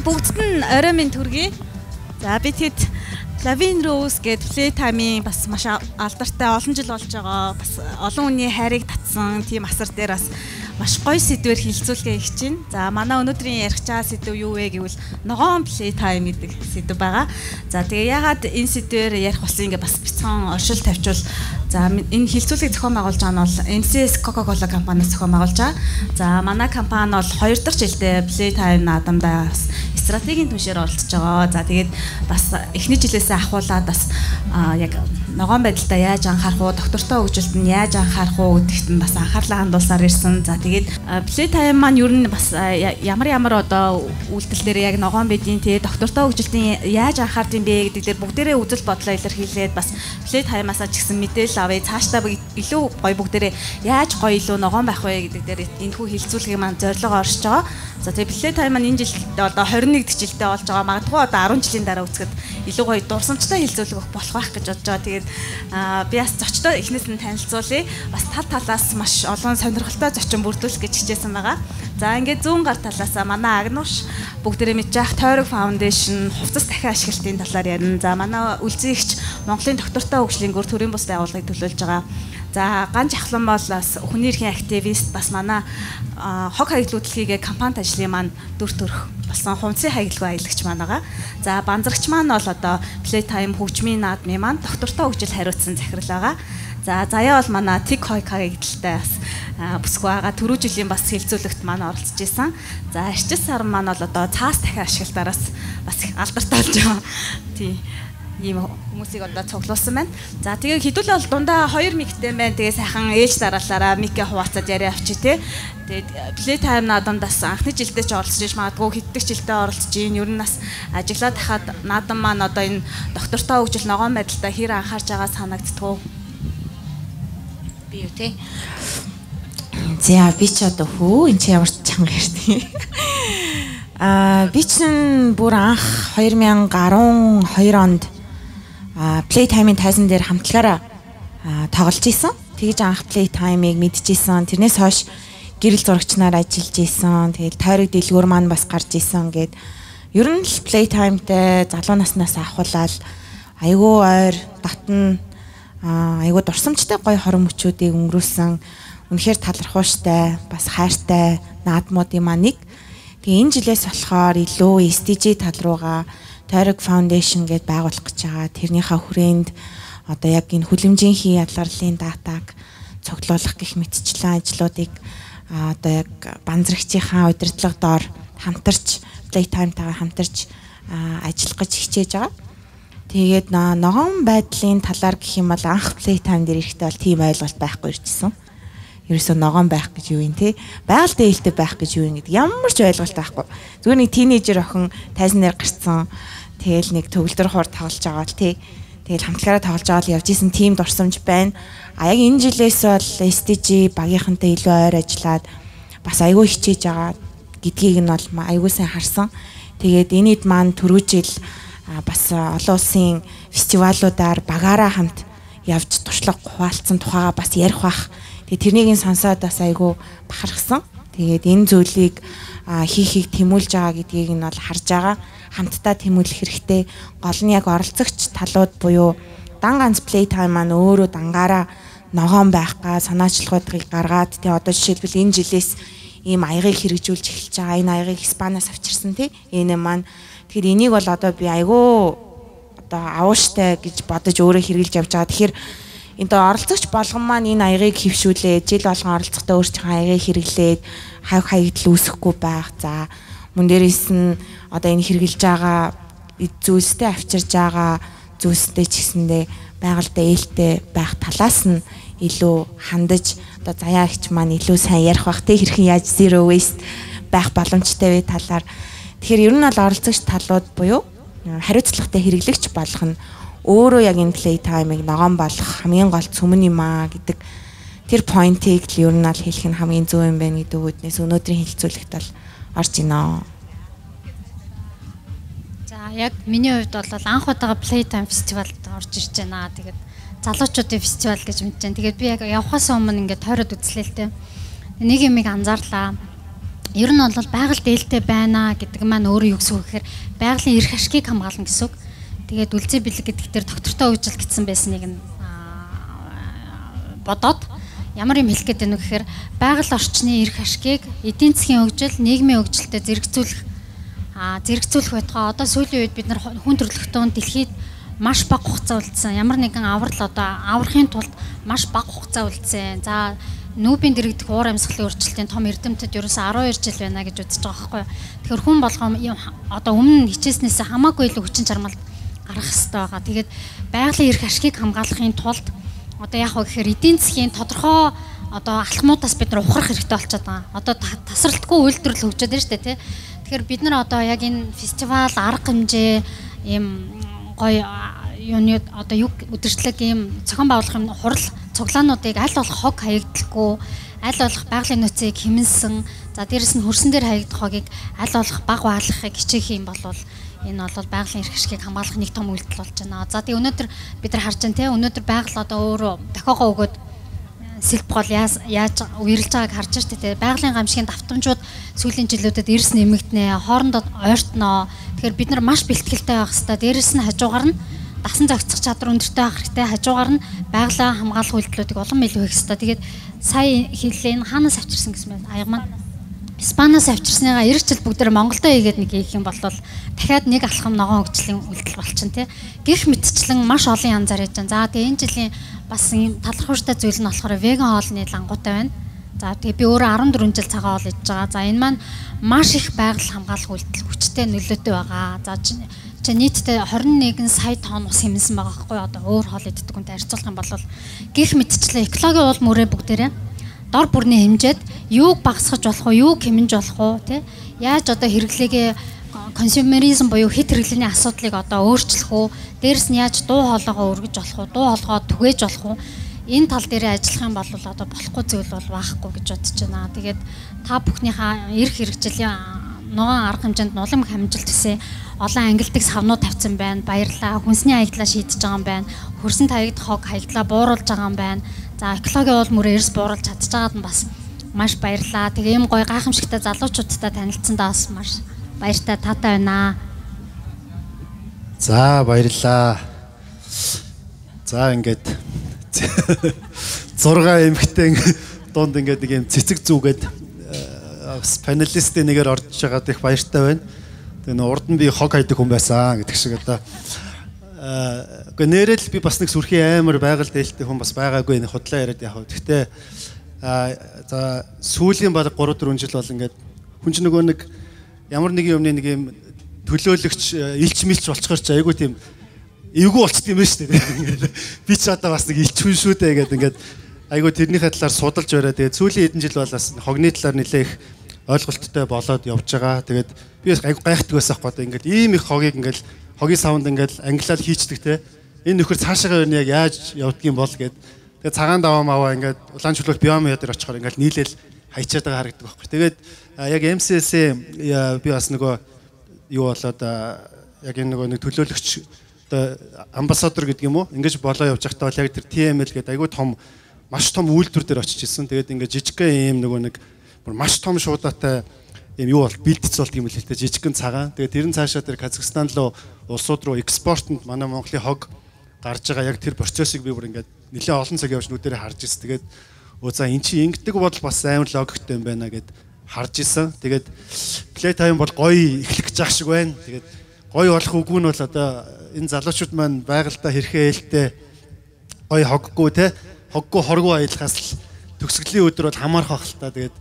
бүгдд нь орой минь төргий. За би тэгэд Lavin Rose гэдэг Playtime-ийн бас маш алдартай олон жил болж байгаа. Бас олон хүний хайрыг татсан тийм асар дээр бас маш гоё сэдвээр хилцүүлгээ хийж байна. За манай өнөөдрийн ярих чаа сэдв юу вэ гэвэл ногоон Playtime гэдэг сэдв байгаа. За тэгээ ягаад энэ сэдвээр ярих болсон ингээ бас бяцхан оршил тавьчвал за энэ хилцүүлгийг зохион байгуулж байгаа нь бол NCS Coca-Cola компаниас зохион байгуулж байгаа. За манай компани бол 2 дахь жилдээ Playtime наадамдаа бас стратегийн түншээр оролцож байгаа. За тэгээд бас эхний жилээс ахуулаад бас яг ногоон байдалтай яаж анхаарах уу, доктортой хөгжилд нь яаж анхаарах уу гэдэгт нь бас анхаарлаа хандуулсаар ирсэн. За тэгээд Playtime маань ер нь бас ямар одоо үйлдэлээр яг ногоон байдیں۔ Тэгээд доктортой хөгжилтийн яаж анхаард юм бэ гэдэг дээр бүгдээрээ үзэл бодлоо илэрхийлээд бас Playtime-аас ч гэсэн мэдээлэл авъя. Цаашдаа илүү гоё бүгдээрээ яаж гоё илүү ногоон байх вэ гэдэг дээр энэхүү хилцүүлгийн маань зорилго оршиж байгаа. За тэгээд Playtime маань энэ жилд одоо 21 дэх жилдээ болж байгаа. Магадгүй одоо 10 жилийн дараа үзэхэд илүү гоё дурсамжтай хилцүүлэг өгөх болох байх гэж бодож байгаа. Тэгээд би бас зочдоо эхнээс нь танилцуулъя. Бас талаас маш олон сонирхолтой зочин бүрдүүлэх гэж хичээсэн байгаа. За ингээд зүүн гар талаас манай Агнуш бүгдээрээ мэдж явах Тойрог Foundation хувцас дахин ашиглалтын талаар ярина. За манай үлзийгч Монголын доктортой хөгжлийн гүр төрийн бус байгууллагыг төлөөлж байгаа. За Ганж Ахлан бол бас хүний эрхийн активист бас манай хог хаягдлуудлагийг компанид ажлын маань дүр төрх болсон хувцсын хаягдлагын аялагч маань байгаа. За банзрагч маань бол одоо Playtime хөгжмийн наадмын маань доктортой хөгжил хариуцсан захирал байгаа. За заяа бол манай Тик Хойк хаягдaltaй бас бүсгүй байгаа. Түрүү жилийн бас хилцүүлэгт маань оролцож исэн. За арчил сар маань бол одоо цаас дахин ашиглалтаараас бас их алдартай болж байгаа. Тий. Ийм хүмүүсийг одоо цуглуулсан байна. За тэгээ хэдүүлээ бол дундаа 2 миктэй байна. Тэгээ сайхан ээлж дараалаараа микээ хуваацаад яриа авчи тээ. Тэгээд Playtime наадамдаас анхны жилдээ ч оролцож иж магадгүй хэддэг жилдээ оролцож ийн. Ер нь бас ажиглаад хахад наадам маань одоо энэ доктортой хөгжил ногоон байдалтай хэр анхаарч байгаа санагддгүү. Би юу те. За би ч одоо энэ чи ямар ч чанга ярьтыг. Би чинь бүр анх 2012 онд Playtime-ийн тайзан дээр хамтлагаараа тоглож исэн. Тэгж анх Playtime-ыг мэдчихсэн. Тэрнээс хойш гэрэл зурагчнаар ажиллаж исэн. Тэгэл тойрог дэлгүүр маань бас гарч исэн гээд ер нь л Playtime-тай залуу наснаас ахуулаад айгүй ойр дотн айгүй дурсамжтай гоё хорон мөчүүдийг өнгөрүүлсэн. Үнэхээр талархууштай, бас хайртай наадмуудын маань нэг. Тэгээ энэ жилээс болохоор илүү SDG тал руугаа Тойрог Foundation гэдээ байгуулах гэж байгаа. Тэрнийхээ хүрээнд одоо яг энэ хүлэмжийнхээ ялгарлын датаг цуглуулах гэх мэтчлэн ажлуудыг одоо яг банзрагчийнхаа удирдлага доор хамтарч Playtime-тайгаа хамтарч ажиллах гэж хичээж байгаа. Тэгээд ногоон байдлын талаар гэх юм бол анх Playtime дээр ирэхдээ бол тийм ойлголт байхгүй ирчихсэн. Ерөөсөө ногоон байх гэж юу юм те? Байгаль дээлтэй байх гэж юу юм гэдэг ямар ч ойлголт байхгүй. Зүгээр нэг тийнейжер охин тайзан дээр гарцсан. Тэгэл нэг төгөлдөр хуур тоглож байгаа л тий. Тэгэл хамтлагаараа тоглож байгаа л явж исэн тим дурсамж байна. Яг энэ жилээс бол SDG багийнхантай илүү ойр ажиллаад бас айгүй хичээж байгаа гэдгийг нь бол айгүй сайн харсан. Тэгээд энэд маань түрүү жил бас олон улсын фестивалуудаар багаараа хамт явж туршлага хуваалцсан тухайга бас ярих бах. Тэгээд тэрнийг сонсоод бас айгүй бахархсан. Тэгээд энэ зүйлийг хийхийг тэмүүлж байгаа гэдгийг нь бол харж байгаа. Хамтдаа тэмүүлэх хэрэгтэй. Гол нь яг оролцогч талууд буюу дан ганц Playtime маань өөрөө дангаараа ногоон байх га санаачлагуудыг гаргаад тий одоо жишээлбэл энэ жилээс ийм аягыг хэрэгжүүлж эхэлж байгаа. Энэ аягыг Испаниас авчирсан тий. Энэ маань тэгэхээр энийг бол одоо би айгүй одоо авууштай гэж бодож өөрөө хэрэгжилж явж байгаа. Тэгэхээр энэ оролцогч болгон маань энэ аягыг хөвшүүлээд жил болгон оролцохдоо өөрсдийнхөө аягыг хэрэглээд хавь хаягдл үүсэхгүй байх. За мөн дээрээс нь одоо энэ хэрэгжилж байгаа зүйлстэй авчирж байгаа зүйлстэй ч гэсэндээ байгальтай ээлтэй байх талаас нь илүү хандаж одоо заяа ихч маань илүү сайн ярих бах те хэрхэн яаж zero waste байх боломжтой вэ талаар. Тэгэхээр ер нь бол оролцогч талууд буюу хариуцлагатай хэрэглэгч болох нь өөрөө яг энэ Playtime-ыг ногоон болох хамгийн гол цөмөн юм аа гэдэг тэр point-ийг л ер нь аль хэлэх нь хамгийн зөв юм байна гэдэг үднээс өнөөдрийн хэлцүүлэгт бол орж ийнэ. За яг миний хувьд бол анх удаага Playtime фестивалд орж ирж байна. Тэгээд залуучуудын фестивал гэж мэдэж байна. Тэгээд би яг явхаас өмнө ингээд тойроод үзлээ л дээ. Нэг юмыг анзаарлаа. Ер нь бол байгаль дээлтэй байна гэдэг маань өөрөө юу гэсэн үг гэхээр байгалийн эрх ашгийг хамгаална гэсэн үг. Тэгээд үлзий бэлэг гэдэг дээр доктортой үжил гэсэн байсныг нь бодоод ямар юм хэлэх гээд байна вэ гэхээр байгаль орчны эрх ашгийг эдийн засгийн хөгжил, нийгмийн хөгжилтэй зэрэгцүүлэх байтугай одоо сүүлийн үед бид нар хүн төрөлхтөн дэлхийд маш бага хугацаа үлдсэн. Ямар нэгэн аврахын тулд маш бага хугацаа үлдсэн. За нүүбийн дэрэгдэх уур амьсгалын өөрчлөлтийн том эрдэмтэд ерөөсөө 12 жил байна гэж үзэж байгаа байхгүй. Тэгэхээр хүн болгоо одоо өмнө хичээснээс хамаагүй илүү хүчин чармайлт гаргах хэрэгтэй байгаа. Тэгээд байгалийн эрх ашгийг хамгаалахын тулд одоо яг гэхээр эдийн засгийн тодорхой одоо алхмуудаас бид нар ухрах хэрэгтэй болчиход байгаа. Одоо тасралтгүй үйлдвэрлэл хөгжөөд байна шүү дээ, тий. Тэгэхээр бид нар одоо яг энэ фестивал, арга хэмжээ, ийм гоё юуны одоо юг үдирчлэг ийм зохион байгуулах юм хурал цуглаануудыг аль болох хог хаягдлахгүй, аль болох байгалийн нөөцийг хэмнэлсэн, за дээрэс нь хөрсөн дээр хаягдах хогийг аль болох бага баалгахыг хичээх юм бол энэ бол байгалийн эрх ашгийг хамгаалах нэг том үйлдэл болж байна. За тэгээ өнөөдөр бид нар харж байна те өнөөдөр байгаль одоо өөрөө дохиогоо өгөөд сэлб гол яаж үерлж байгааг харж штэ те байгалийн гамшигын давтамжууд сүүлийн жилүүдэд эрс нэмэгднэ, хоорондоо ойртноо. Тэгэхээр бид нар маш бэлтгэлтэй байх хэрэгтэй. Дээрэс нь хажуугаар нь дасан зохицох чадвар өндөртэй байх хэрэгтэй. Хажуугаар нь байгалаа хамгаалах үйлдэлүүдийг улам илүү хийх хэрэгтэй. Тэгээд сая хэллээ энэ хаанаас авчирсан гэсэн байна. Аяг маань Испаниас авчирсныгаа 90 жил бүгдээр Монголдо хийгээд нэг хийх юм бол дахиад нэг алхам ногоон хөгжлийн үйлдэл болчихно тий. Гэх мэтчлэн маш олон янзаар хийж байна. За тэгээ энэ жилийн бас юм талархууштай зүйл нь болохоор веган хоолны лангуутай байна. За тэгээ би өөрөө 14 жил цагаан хоол хийж байгаа. За энэ маань маш их байгаль хамгаалах үйлдэл хүчтэй нөлөөтэй байгаа. За чи нийтдээ 21 сая тонн ус хэмнэсэн байгаа байхгүй одоо өөр хоол иддэг хүнтэй харьцуулах юм бол гэх мэтчлэн экологийн уул мөрөө бүгдээрээ дор бүрний хэмжээд юуг багасгах болох уу, юуг хэмнэж болох уу, тий? Яаж одоо хэрэглээгээ консюмеризм буюу хэд хэрэглээний асуудлыг одоо өөрчлөх үү? Дээрэс нь яаж дуу хоолойгоо өргөж болох уу, дуу хоолойгоо түгээж болох уу? Энэ тал дээр ажиллах юм бол одоо болохгүй зүйл бол байхгүй гэж бодож байна. Тэгээд та бүхнийхээ эрх хэрэгжлийн ногоон арга хэмжээнд нулимх хамжилт төсөө олон ангилдаг савнууд тавьсан байна. Баярлалаа. Хүнсний хаягдлаа шийдэж байгаа юм байна. Хөрсөн таягд хог хаягдлаа бууруулж байгаа юм байна. За экологийн уул мөрөө эрс бууруулж чадчихагаад нь бас маш баярлалаа. Тэгээ ийм гоё гайхамшигтай залуучуудтай танилцсандаа бас маш баяртай таатай байна. За баярлалаа. За ингээд 6 эмэгтэй дунд ингээд нэг юм цэцэг зүгээд панелистийн нэгээр орж байгаад их баяртай байна. Тэгээ урд нь би хог хайдаг хүн байсан гэдэг шиг одоо үгүй нэрэл би бас нэг сүрхийн амар байгаль дээлтэй хүн бас байгаагүй нэг худлаа яриад яах вэ. Гэхдээ за сүүлийн баг 3-4 жил бол ингээд хүн ч нөгөө нэг ямар нэг юмны нэг юм төлөөлөгч илч мэлч болцохоор ч айгүй тийм эвгүй болчт юм байна шүү дээ. Ингээд би ч одоо бас нэг илч хүн шүү дээ гэдэг ингээд айгүй тэрнийхээ талаар судалж бариа. Тэгээд сүүлийн хэдэн жил бол бас хогны талаар нэлээх ойлголттой болоод явж байгаа. Тэгээд би бас айгүй гайхдаг байсан байхгүй. Ингээд ийм их хогийг ингээд хогийн савнд ингээд англиар хийчдэг те. Энэ нөхөр цаашаа яг яаж явдгийм бол гэд. Тэгээд цагаан даваа маваа ингээд улаан чулуул биомиа дээр очихоор ингээд нийлээл хайчаад байгаа харагддаг байхгүй. Тэгээд яг MCS-ээ би бас нөгөө юу болоод яг энэ нөгөө нэг төлөөлөгч одоо амбассадор гэдэг юм уу? Ингэж болоо явж байхдаа бол яг тэр TML гэдэг айгүй том маш том үйлдвэр дээр очиж ирсэн. Тэгээд ингээд жижигхэн ийм нөгөө нэг маш том шуудаатай ийм юу бол бэлтгэц болт юм л хэлтэй жижигхэн цагаан. Тэгээд тэр нь цаашаа тэр Казахстан руу улсууд руу экспортод манай Монголын хог гарч байгаа яг тэр процессыг би бүр ингээд нэлээд олон цаг явж нүдэрээ харж ирсэн. Тэгээд за эн чинь ингэдэг бодол бас амар логиктэй юм байна гэд харж ирсэн. Тэгээд Playtime бол гоё эхлэх гэж шиг байна. Тэгээд гоё болох үгүй нь бол одоо энэ залуучууд маань байгальдаа хэрхэн ээлтэй гоё хоггүй те хоггүй хоргүй аялахаас л төгсгөлийн өдөр бол хамаарах байх л та. Тэгээд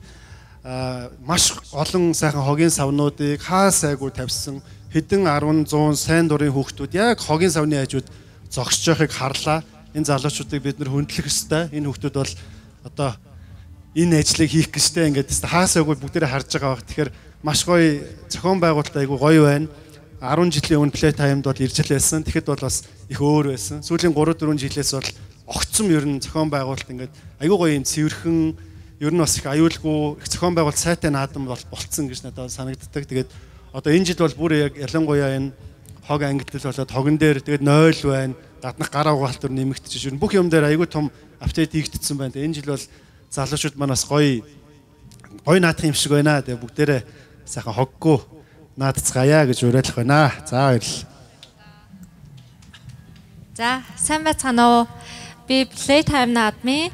маш олон сайхан хогийн савнуудыг хаа сайгүй тавьсан хэдэн 10 100 сайн дурын хүүхдүүд яг хогийн савны хажууд зогсож байхыг харлаа. Энэ залуучуудыг бид нэр хөндлөх ёстой. Энэ хүүхдүүд бол одоо энэ ажлыг хийх гэжтэй ингээд хаа сайгүй бүгдээрээ харж байгаа баг. Тэгэхээр маш гоё зохион байгуулалт айгүй гоё байна. 10 жилийн өмнө Playtime-д бол ирж байсан. Тэгэхэд бол бас их өөр байсан. Сүүлийн 3-4 жилээс бол огцом ер нь зохион байгуулалт ингээд айгүй гоё юм цэвэрхэн ер нь бас их аюулгүй их зохион байгуулалт сайтай наадам болцсон гэж надад санагддаг. Тэгээд одоо энэ жил бол бүр яг ялангуяа энэ хог ангитлал болоод хогон дээр тэгээд 0 байна. Гаднах гар угаалтар нэмэгдчихэж ер нь бүх юм дээр айгүй том апдейт хийгдсэн байна. Энэ жил бол залуучууд манаас гоё Гой наадах юм шиг байна. Тэгээ бүгдээрээ сайхан хоггүй наадцгаая гэж уриалах байна. За баярлалаа. За сайн байцгаана уу. Би Playtime наадмын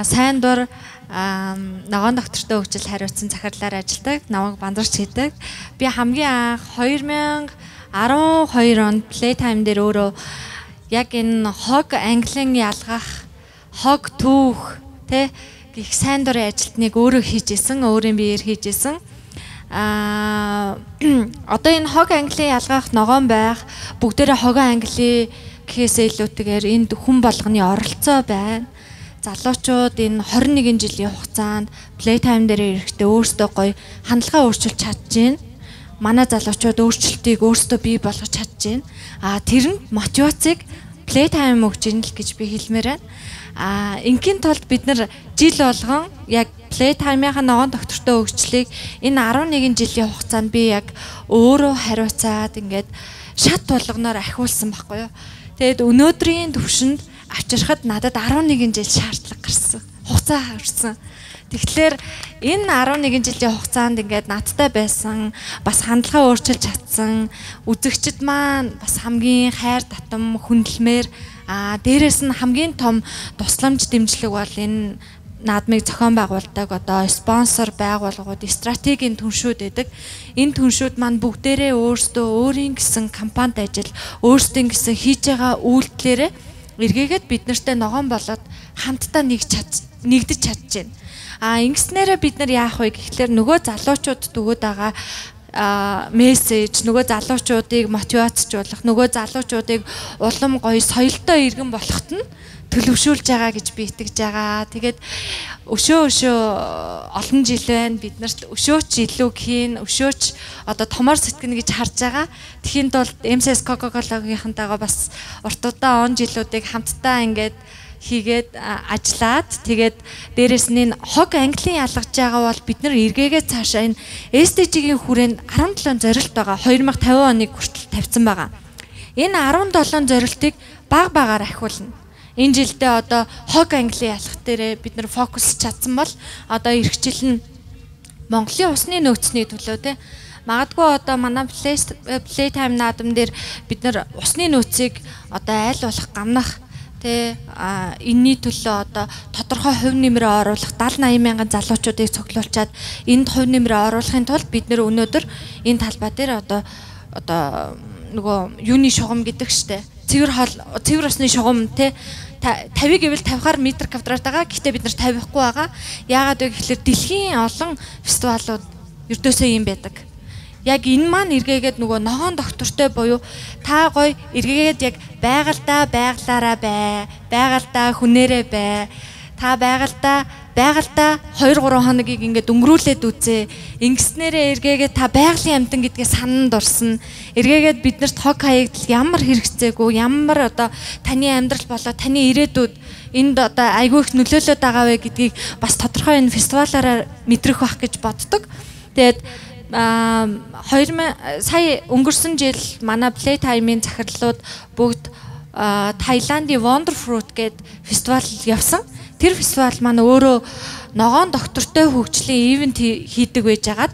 сайн дур ногоон доктортой хөгжил хариуцсан захирлаар ажилладаг, намайг бандарч хийдэг. Би хамгийн анх 2012 онд Playtime дээр өөрөө яг энэ хог английн ялгах, хог түүх тэ гих сайн дурын ажилтныг өөрөө хийжсэн, өөрийн биеэр хийжсэн. Одоо энэ хог английн ялгах ногоон байх, бүгдээрээ хогоо англи гэхээсээ илүүтэйгээр энд хүн болгоны оролцоо байна. Залуучууд энэ 21 жилийн хугацаанд Playtime дээр ирэхдээ өөрсдөө гоё хандлагаа өөрчилж чадчихээн. Манай залуучууд өөрчлөлтийг өөрсдөө бий болгож чадчихээн. Тэр нь мотивацийг Playtime өгч ийн л гэж би хэлмээр байна. Ингийн тулд бид нар жил болгон яг Playtime-ийн ногоон доктортой хөгжлийг энэ 11 жилийн хугацаанд би яг өөрөө хариуцаад ингээд шат болгоноор ахиулсан байхгүй юу. Тэгэд өнөөдрийн төвшөнд авчирхад надад 11 жил шаардлага гарсан. Хугацаа харсан. Тэгэхээр энэ 11 жилийн хугацаанд ингээд надтай байсан, бас хандлагаа өөрчилж чадсан, үзэгчд маань бас хамгийн хайр татам хүндэлмээр дээрээс нь хамгийн том тусламж дэмжлэг бол энэ наадмыг зохион байгуулдаг одоо спонсор байгууллагууд стратегийн түншүүд байдаг. Энэ түншүүд маань бүгдээрээ өөрсдөө өөрийн гэсэн компанид ажил, өөрсдийн гэсэн хийж байгаа үйлдэлээрээ эргээгээд бид нартай ногоон болоод хамтдаа нэгдэж чадчихээн. Ингэснээрээ бид нар яах вэ гэхлээр нөгөө залуучуудад өгöd байгаа мессеж, нөгөө залуучуудыг мотивацжуулах, нөгөө залуучуудыг улам гоё соёлтой иргэн болоход нь төлөвшүүлж байгаа гэж би итгэж байгаа. Тэгээд өшөө олон жил байна. Бид нарт өшөөч илүү хийн, өшөөч одоо томор сэтгэнэ гэж харж байгаа. Тэхийн тулд MSS Coca-Cola-гийнхантайгаа бас уртудаа он жилүүдийг хамтдаа ингээд хийгээд ажиллаад тэгээд дээрэс нь энэ хог английн ялгаж байгаа бол бид нар эргээгээ цаашаа энэ SDG-ийн хүрээнд 17 зорилт байгаа. 2050 оныг хүртэл тавьсан байгаа. Энэ 17 зорилтыг баг багаар ахиулна. Энэ жилдээ одоо хог английн ялгах дээрээ бид нар фокус чадсан бол одоо эх жил нь Монголын усны нөөцний төлөө те магадгүй одоо манай Playtime наадам дээр бид нар усны нөөцийг одоо айл болох гамнах тэ энэний төлөө одоо тодорхой хувь нэмрээ оруулах 70-80 мянган залуучуудыг цуглуулчаад энд хувь нэмрээ оруулахын тулд бид нэр өнөөдөр энэ талбай дээр одоо нөгөө юуны шугам гэдэг штэ цэвэр усны шугам тэ 50 гэвэл 50-аар метр квадрат байгаа. Гэхдээ бид нар 50-хгүй байгаа. Яагаад вэ гэхэлэр дэлхийн олон фестивалууд ердөөсөө юм байдаг. Яг энэ маань эргээгээд нөгөө ногоон доктортой буюу та гоё эргээгээд яг байгальдаа байгалаараа бай. Байгальдаа хүнээрээ бай. Та байгальдаа 2-3 хоногийг ингээд өнгөрүүлээд үзээ. Ингэснээрээ эргээгээд та байгалийн амтан гэдгээ сананд орсон. Эргээгээд биднэрт хог хаягдл ямар хэрэгцээгүй, ямар одоо таны амьдрал болоо таны ирээдүйд энд одоо айгүй их нөлөөлөд байгаа вэ гэдгийг бас тодорхой энэ фестивалаараа мэдрэх байх гэж боддог. Тэгээд сая өнгөрсөн жил манай Playtime-ийн захирлууд бүгд Таиландын Wonder Fruit гэдэг фестивал явсан. Тэр фестивал маань өөрөө ногоон доктортой хөгжлийн ивент хийдэг байж агаад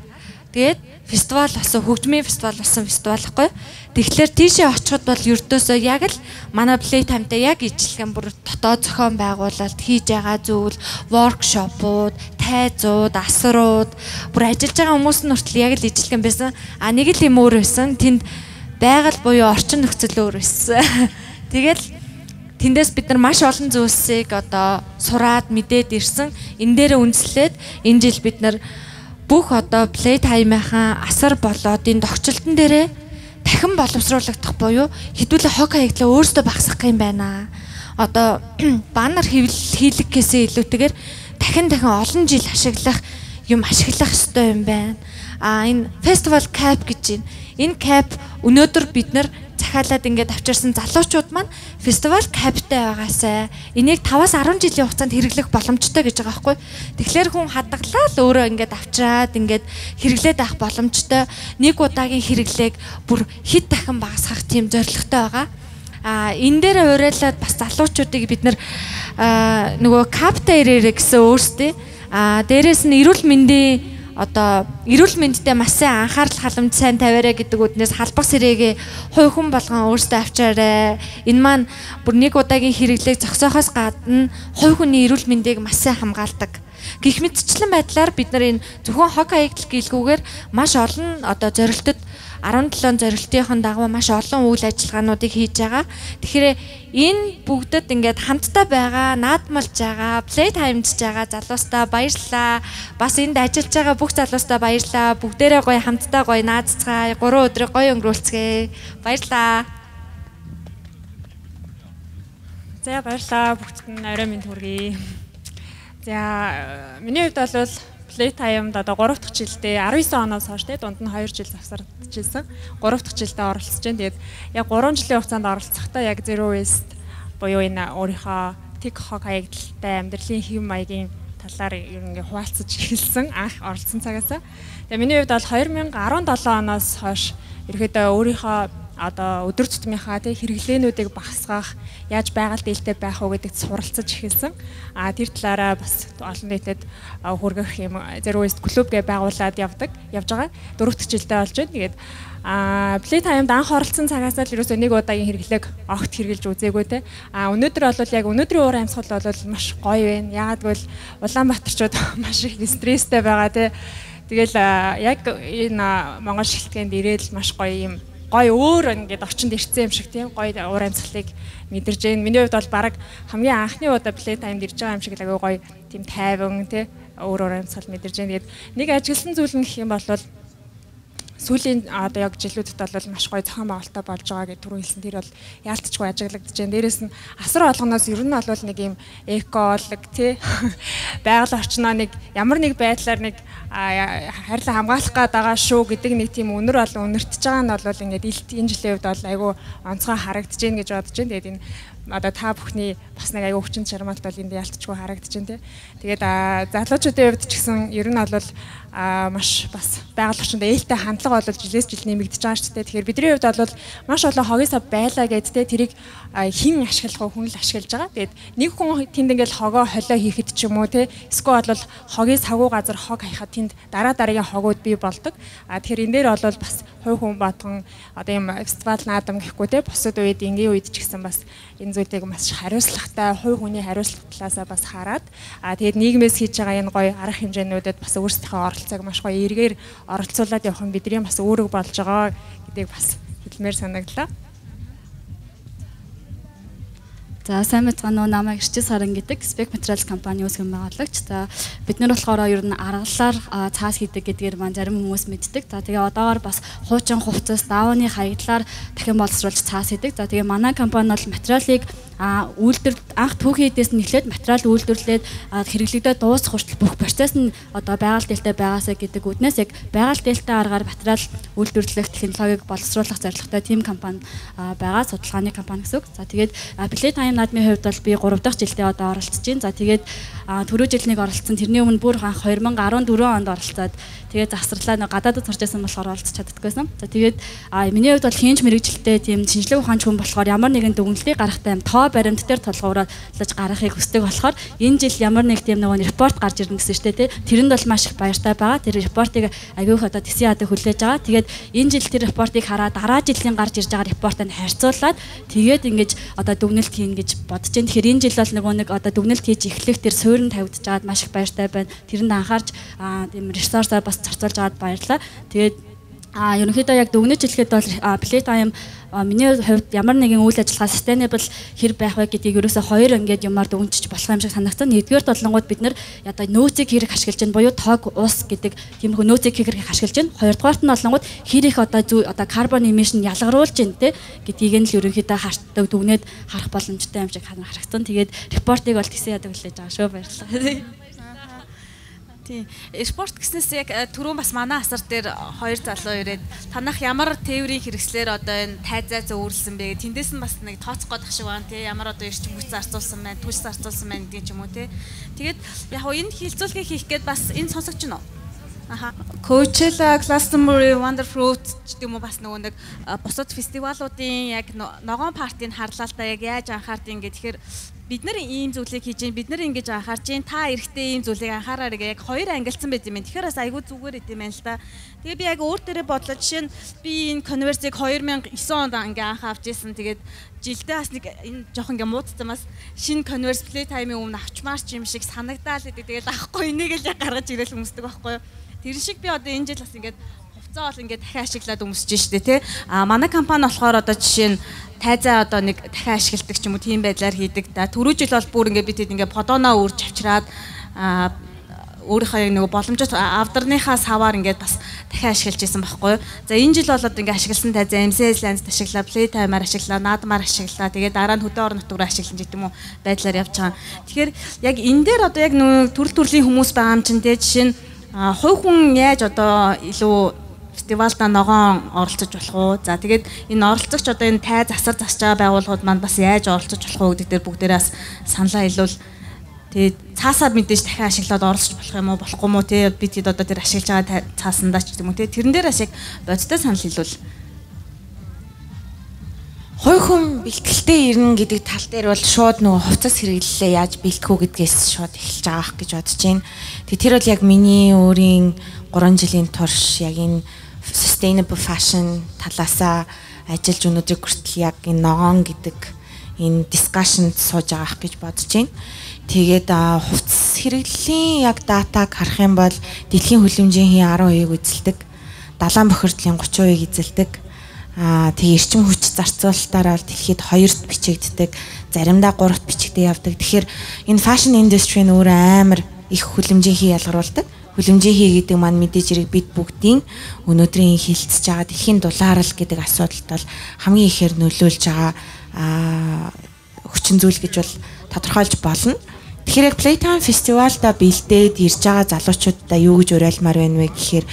тэгээд фестивал болсон хөгжмийн фестивал болсон фестивал гэхгүй. Тэгэхээр тийшээ очиход бол ердөөсөө яг л манай Playtime-тай яг ижилхэн бүр дотоод зохион байгуулалт хийж байгаа зүйл, воркшопууд, тайзууд, асрууд бүр ажиллаж байгаа хүмүүс нь хүртэл яг л ижилхэн байсан. Нэг л юм өөр байсан. Тэнд байгаль буюу орчин нөхцөл өөр байсан. Тэгэл тэндээс бид нар маш олон зүйлсийг одоо сураад мэдээд ирсэн. Энэ дээр үндэслээд энэ жил бид нар бүх одоо Playtime-ийн асар болоод энэ тогтчлтон дээрээ дахин боловсруулагдах буюу хэдүүлээ хог хаягдлаа өөрсдөө багасгах юм байна. Одоо баннер хийлэг гэсээ илүүтэйгээр дахин олон жил ашиглах ёстой юм байна. Энэ фестивал cap гэж байна. Энэ cap өнөөдөр бид нар захиалаад ингээд авчирсан залуучууд маань фестивал каптай байгаасай. Энийг 5-10 жилийн хугацаанд хэрэглэх боломжтой гэж байгаа байхгүй. Тэгэхээр хүн хадгалаа л өөрөө ингээд авчираад ингээд хэрэглээд авах боломжтой. Нэг удаагийн хэрэглээг бүр хэд дахин багасгах тийм зорилготой байгаа. Энэ дээр уриалаад бас залуучуудыг бид нар нөгөө каптай ирээрээ гэсэн өөрсдөө Дээрээс нь эрүүл мэндийн одоо эрүүл мэндэд маш сайн анхаарал халамж сайн тавиараа гэдэг үднээс халбах сэрэгээ хувь хүн болгон өөрсдөө авчаарай. Энэ маань бүр нэг удаагийн хэрэглээг зогсоохоос гадна хувь хүний эрүүл мэндийг маш сайн хамгаалдаг. Гэх мэтчлэн байдлаар бид нар энэ зөвхөн хог хаягдл гэлгүүгээр маш олон одоо зорилтод 17 зорилтын дагуу маш олон үйл ажиллагаануудыг хийж байгаа. Тэгэхээр энэ бүгдэд ингээд хамтдаа байгаа, наадмалж байгаа, плей таймдж байгаа залуустаа баярлалаа. Бас энд ажиллаж байгаа бүх залуустаа баярлалаа. Бүгдээрээ гоё хамтдаа гоё нааццгаая. 3 өдрийг гоё өнгөрүүлцгээе. Баярлалаа. За баярлалаа. Бүгдд нь орой минь хүргэе. За миний хувьд бол Playtime одоо 3 дахь жилдээ 19 оноос хойш те дунд нь 2 жил завсардчихсан. 3 дахь жилдээ оролцож байна. Тэгээд яг 3 жилийн хугацаанд оролцохдоо яг Zero Waste буюу энэ өөрийнхөө тэг хог хаягдaltaй амьдралын хэв маягийн талаар ер нь хуваалцаж эхэлсэн анх оролцсон цагаасаа. Тэгээд миний хувьд бол 2017 оноос хойш ерөөдөө өөрийнхөө одоо өдөр тутмынхаа тий хэрэглээнүүдийг багасгах, яаж байгаль дээлтэй байх уу гэдэгт суралцаж эхэлсэн. Тэр талаараа бас олон нийтэд хүргэх юм Zero Waste клуб гэж байгуулад явж байгаа. 4 дахь жилдээ болж байна. Тэгээд Playtime-д анх оролцсон цагаас л ерөөсөө нэг удаагийн хэрэглээг огт хэрэгжилж үзээгүй те. Өнөөдөр бол яг өнөөдрийн уур амьсгал бол маш гоё байна. Яагаад гэвэл Улаанбаатарчууд маш их стресстэй байгаа те. Тэгэл яг энэ Монгол шилтгэнд ирээл маш гоё юм гой өөр ингээд орчинд ирсэн юм шиг тийм гой уур амьсгалыг мэдэрж байна. Миний хувьд бол баг хамгийн анхны удаа Playtime-д ирж байгаа юм шиг л агай гой тийм тайван тий өөр амьсгал мэдэрж байна. Тэгээд нэг ажигласан зүйл нь гэх юм бол сүүлийн одоо яг жилүүдэд бол маш гоё зохион байгуулалттай болж байгаа гэж түрүү хэлсэн. Тэр бол яалтчгүй ажиглагдаж байна. Дээрээс нь асар болгоноос ер нь бол нэг юм эколог тий байгаль орчноо нэг ямар нэг байдлаар нэг харьлан хамгаалах гээд байгаа шүү гэдэг нэг тийм үнэр бол үнэртэж байгаа нь бол ингээд энэ жилийн үед бол айгүй онцгой харагдаж байна гэж бодож байна. Тэгээд энэ одоо та бүхний бас нэг аягүй хүчин чармаалт бол энд ялтчгүй харагдаж байна тий. Тэгээд залуучуудын хувьд ч гэсэн ер нь бол маш бас байгаль орчинд ээлтэй хандлага бол жилээс жил нэмэгдэж байгаа шүү дээ. Тэгэхээр бидний хувьд бол маш олон хогоосоо байлаа гэд тий тэрийг хэн ашиглах хүн л ашиглаж байгаа. Тэгээд нэг хүн тэнд ингээл хогоо холио хийхэд ч юм уу тий эсвэл бол хогийн савгүй газар хог хаяхад тэнд дараагийн хогууд бий болдог. Тэгэхээр энэ дээр бол бас хувь хүн батган одоо юм фестивал наадам гэхгүй тий бусад үед энгийн үед ч гэсэн бас энэ зүйлийг маш хариуцлагатай хувь хүний хариуцлага талаасаа бас хараад тэгээд нийгмээс хийж байгаа энэ гоё арга хэмжээнүүдэд бас өөрсдийнхөө оролцоог маш гоё эргээр оролцуулаад явах нь бидний бас үүрэг болж байгаа гэдгийг бас хэлмээр санагдлаа. За сайн мэцгаано намайг Эрчис Саран гэдэг Spec Materials компани үүсгэн байгуулагч. За бид нар болохоор ер нь аргалаар цаас хийдэг гэдгээр маань зарим хүмүүс мэддэг. За тэгээ одоогоор бас хуучин хувцас даавны хаягдлаар дахин боловсруулж цаас хийдэг. За тэгээ манай компани бол материалыг анх түүхийн эдээс нь эхлээд материал үйлдвэрлээд хэрэглэгдээд дуусах хүртэл бүх процесс нь одоо байгаль дээлтэй байгаасаа гэдэг үднээс яг байгаль дээлтэй аргаар материал үйлдвэрлэх технологиг боловсруулах зорилготой team компани байгаа судалгааны компани гэсэн үг. За тэгээд Playtime наадмын хувьд бол би 3 дахь жилдээ одоо оролцож байна. За тэгээд түрүү жил нэг оролцсон. Тэрний өмнө бүр анх 2014 онд оролцоод тэгээд завсарлаа гадаадд сурч байсан болохоор оролцож чаддаггүйсэн. За тэгээд миний хувьд бол хийнч мэрэгжилтэй тийм шинжлэх ухаанч хүн болохоор ямар нэгэн дүгнэлтийг гаргахтай юм тоо баримт дээр толгуурлаж гаргахыг хүсдэг болохоор энэ жил ямар нэг тийм нэг репорт гарч ирнэ гэсэн штэ тий. Тэрэнд бол маш их баяртай байгаа. Тэр репортыг агиух одоо TC хадад хүлээж байгаа. Тэгээд энэ жил тэр репортыг хараад дараа жилийн гарч ирж байгаа репортыг харьцуулаад тэгээд ингэж одоо дүгнэлт хийн гэж бодож байна. Тэгэхээр энэ жил бол нэг одоо дүгнэлт хийж эхлэх тэр суурин тавигдаж байгаад маш их баяртай байна. Тэрэнд анхаарч тийм ресурсаар бас зарцуулж байгаад баярлалаа. Тэгээд ерөнхийдөө яг дүгнэж хэлэхэд бол Playtime миний хувьд ямар нэгэн үйл ажиллагаа sustainable хэр байх вэ гэдгийг ерөөсөө хоёр ингээд юмар дүгнэж болох юм шиг санагдсан. Нэгдүгээр толонгууд бид нар одоо нөөцийг хэрэг ашиглаж байна буюу тог ус гэдэг тиймэрхүү нөөцийг хэрэг ашиглаж байна. Хоёрдугаарт нь толонгууд хэр их одоо carbon emission ялгаруулж байна те гэдгийг нь л ерөнхийдөө хартдаг дүгнээд харах боломжтой юм шиг харагдсан. Тэгээд репортыг бол TC хадад хүлээж байгаа шүү. Баярлалаа. Тийм. Спорт гэснээс яг түрүүн бас манай асар дээр хоёр залуу ирээд танах ямар тээврийн хэрэгслэр одоо энэ тайзаа зөөвөрлсөн бэ? Тэндээс нь бас нэг тооцох годох шиг байна тий. Ямар одоо эрчим хүч зарцуулсан байна, түлс зарцуулсан байна гэдэг юм уу тий. Тэгээд яг энэ хилцүүлгийг хийх гээд бас энэ сонсогч нь Coachella, Glastonbury, Wonderfruit гэдэг юм уу бас нөгөө нэг бусад фестивалуудын яг ногоон партийг харлаа л да яг яаж анхаардیں۔ Тэгэхээр бид нар ийм зүйлийг хийж гин бид нар ингэж анхаарч гин та эрэхтэй ийм зүйлийг анхаараарай яг хоёр ангилсан байт юм. Тэгэхээр бас айгүй зүгээр идэм байна л да. Тэгээ би яг өөр дээрээ бодлоо жишээ нь би энэ конверсийг 2009 онд ингээ анх авч ирсэн. Тэгээд жилдээ бас нэг энэ жоох ингээ муудсан бас шинэ конверс плей таймын өмнө авчмаар ч юм шиг санагдаал гэдэг. Тэгээд авахгүй энийг л яг гаргаж ирээл хүмүүсдэг байхгүй юу. Тэр шиг би одоо энэ жил бас ингээд хувцаа бол ингээд дахин ашиглаад өмсөж штэ тий. Манай компани болохоор одоо жишээ нь тайзаа одоо нэг дахин ашигладаг ч юм уу тийм байдлаар хийдэг. Түрүү жил бол бүр ингээд бид ингээд подоноо үрж авчираад өөрийнхөө нэг боломжит авдарныхаа саваар ингээд бас дахин ашиглаж исэн байхгүй юу. За энэ жил болоод ингээд ашигласан тайзаа MCS Lens ашиглаа, Play Timer ашиглаа, наадмаар ашиглаа. Тэгээд дараа нь хөдөө орон нутгаар ашиглаж гэдэг юм уу байдлаар явж байгаа. Тэгэхээр яг энэ дээр одоо яг нэг төрөл төрлийн хүмүүс байгаа юм чинь тий жишээ нь хувь хүн яаж одоо илүү фестивалда ногоон оролцож болох уу? За тэгээд энэ оролцогч одоо энэ тай засар засж байгаа байгууллагууд манд бас яаж оролцож болох уу гэдэг дээр бүгдээрээ бас саналаа илүүл. Тэгээд цаасаа мэдээж дахин ашиглаад оролцож болох юм уу болохгүй юм уу те бид хэд одоо тэр ашиглаж байгаа цаасандаа ч юм уу те тэрэн дээр бас яг бодтой санал илүүл. Хой хүн бэлтгэлтэй ирнэ гэдэг тал дээр бол шууд нөгөө хувцас хэрэглэлээ яаж бэлтгэх үү гэдгээс шууд эхэлж байгаа гэж бодож байна. Тэгээ тэр бол яг миний өөрийн 3 жилийн турш яг энэ sustainable fashion талаасаа ажиллаж өнөөдөр хүртэл яг энэ ногоон гэдэг энэ discussion сууж байгаа гэж бодож байна. Тэгээд хувцас хэрэглэлийн яг датаг харах юм бол дэлхийн хөлөмжийн 12%-ийг эзэлдэг, далайн бохирдлын 30%-ийг эзэлдэг. Тэгээ эрчим хүч зарцуулалтаараа дэлхийд 2-т бичигддэг, заримдаа 3-т бичигдээ явдаг. Тэгэхээр энэ fashion industry нь өөр амар их хөлөмжийн ялгаруулдаг. Хөлөмжийн гэдэг маань мэдээж хэрэг бид бүгдийн өнөөдрийн хилцэж байгаа дэлхийн дулаарл гэдэг асуудалд бол хамгийн ихээр нөлөөлж байгаа хүчин зүйл гэж бол тодорхойлж болно. Тэгэхээр яг Playtime фестивалда бэлдээд ирж байгаа залуучуудаа юу гэж уриалмаар байна вэ гэхээр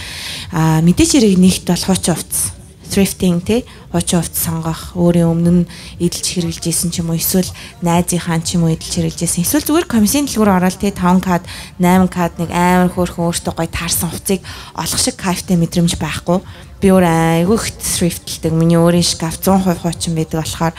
мэдээж хэрэг нэгт бол хуучин хувцас thrifting те хуучин хувцас сонгох өөрийн өмнө нь эдэлж хэрэглэж исэн ч юм уу эсвэл найзынхаа ч юм уу эдэлж хэрэглэж исэн эсвэл зүгээр комиссийн дэлгүүр ороод те 5 кад 8 кад нэг амар хөөрхөн өөртөө гоё таарсан хувцыг олох шиг кайфтай мэдрэмж байхгүй би өөр айгүй их thriftlдэг миний өөрийн шкаф 100% хуучин байдаг болохоор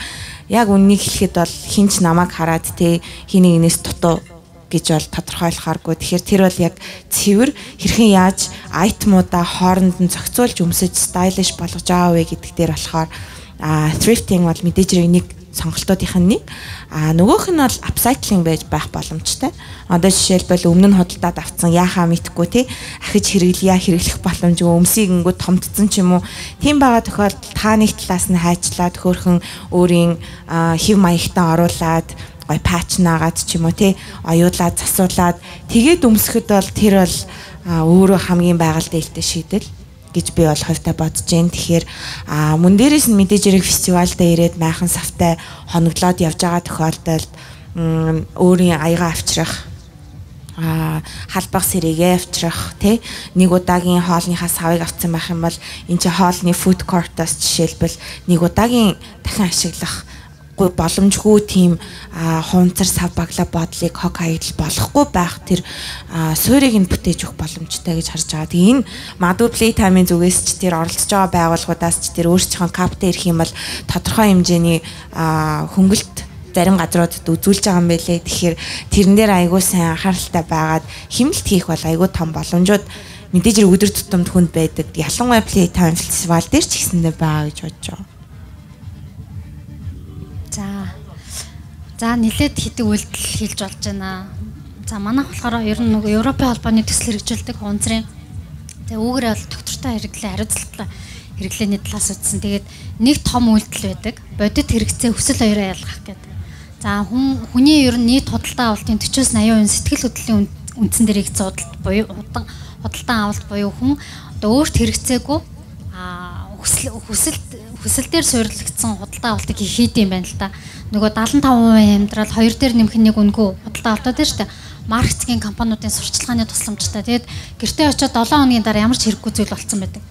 яг үннийг хэлэхэд бол хинч намайг хараад те хиний инээс дутуу гэж бол тодорхойлохооргүй. Тэгэхээр тэр бол яг цэвэр хэрхэн яаж айтмуудаа хооронд нь зохицуулж өмсөж стайлиш болгож байгаа вэ гэдэг дээр болохоор thrifting бол мэдээж хэрэг нэг сонголтуудынх нь нэг. Нөгөөх нь бол upcycling байж байх боломжтой. Одоо жишээлбэл өмнө нь худалдаад авсан яхаа мэдхгүй тий ахиж хэрэглэх боломжгүй өмсийг ингээд томдсон ч юм уу. Тийм байгаа тохиолдолд та нэг талаас нь хайчлаад хөөрхөн өөрийн хэв маягтаа оруулаад гой патч наагаад ч юм уу тий оюулаад засуулаад тэгээд өмсөхөд бол тэр бол өөрөө хамгийн байгаль дээлтэй шийдэл гэж би бол хувьдаа бодож байна. Тэгэхээр мөн дээрээс нь мэдээж хэрэг фестивалдаа ирээд майхан савтай хоноглоод явж байгаа тохиолдолд өөрийн аяга авчрах халбах сэрээгээ авчрах тий нэг удаагийн хоолныхаа савыг авсан байх юм бол энэ чи хоолны food court-ос жишээлбэл нэг удаагийн дахин ашиглах боломжгүй тийм хуунцар сав баглаа бодлыг хог хаягдл болохгүй байх тэр суурийг нь бүтээж өгөх боломжтой гэж харж байгаа. Тэгээ энэ магадгүй Playtime-ийн зүгээс ч тэр оролцож байгаа байгууллагуудаас ч тэр өөрсдийнхөө каптай ирэх юм бол тодорхой хэмжээний хөнгөлт зарим газруудад үзүүлж байгаа юм байлээ. Тэгэхээр тэрэн дээр айгүй сайн анхааралтай байгаад хэмнэлт хийх бол айгүй том боломжууд мэдээж хэрэг өдөр тутамд хүнд байдаг. Ялангуяа Playtime фестивал дээр ч гэсэндээ байгаа гэж бодож байгаа. За нэлээд хэдэг үйлдэл хийж болж байна. За манайх болохоор ер нь нөгөө Европын холбооны төсөл хэрэгжүүлдэг хуунцрын. Тэгээ үүгээрээ бол доктортой хэрэглээ, хариуцлагатай хэрэглээний талаас үзсэн. Тэгээд нэг том үйлдэл байдаг. Бодит хэрэгцээ өсөл хоёроо ялгах гэдэг. За хүний ер нь нийт худалдаа авалтын 40-80% сэтгэл хөдлөлийн үндсэн дээр хийгдсэн худалдан авалт буюу хүн одоо өөрт хэрэгцээгүй хүсэл дээр суйрлагдсан худалдаа авалтыг хийд юм байна л да. Нөгөө 75% амьдрал 2 дээр нэмэх нэг үнгүй худалдаа авалтууд дээр штэ маркетинг компаниудын сурчлагын тусламжтай. Тэгээд гэртээ очиод 7 хоногийн дараа ямар ч хэрэггүй зүйл болцсон байдаг.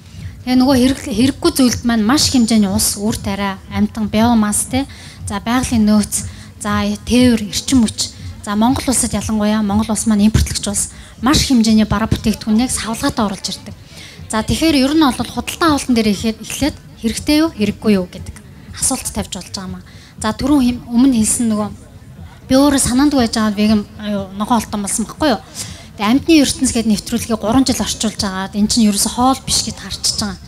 Тэгээ нөгөө хэрэггүй зүйлд маань маш хэмжээний ус, үр тариа, амтан, биомасс те. За байгалийн нөөц, за тээвэр, эрчим хүч. За Монгол улсад ялангуяа Монгол улс маань импортлогч улс маш хэмжээний бараа бүтээгдэхүүнийг савлгаатай оруулж ирдэг. За тэгэхээр ер нь бол худалдаа авалтан дээр эхлээд хэрэгтэй юу, хэрэггүй юу гэдэг асуулт тавьж болж байгаа юм аа. За түрүүн өмнө хэлсэн нөгөө Би өөрөө санаанд байж байгаа веган ногоон олтон болсон байхгүй юу. Тэгээ амьтны ертөнц гэдэг нэвтрүүлгийг 3 жил орчуулж байгаа. Энэ чинь ерөөсө хоол биш гэд харчихж байгаа.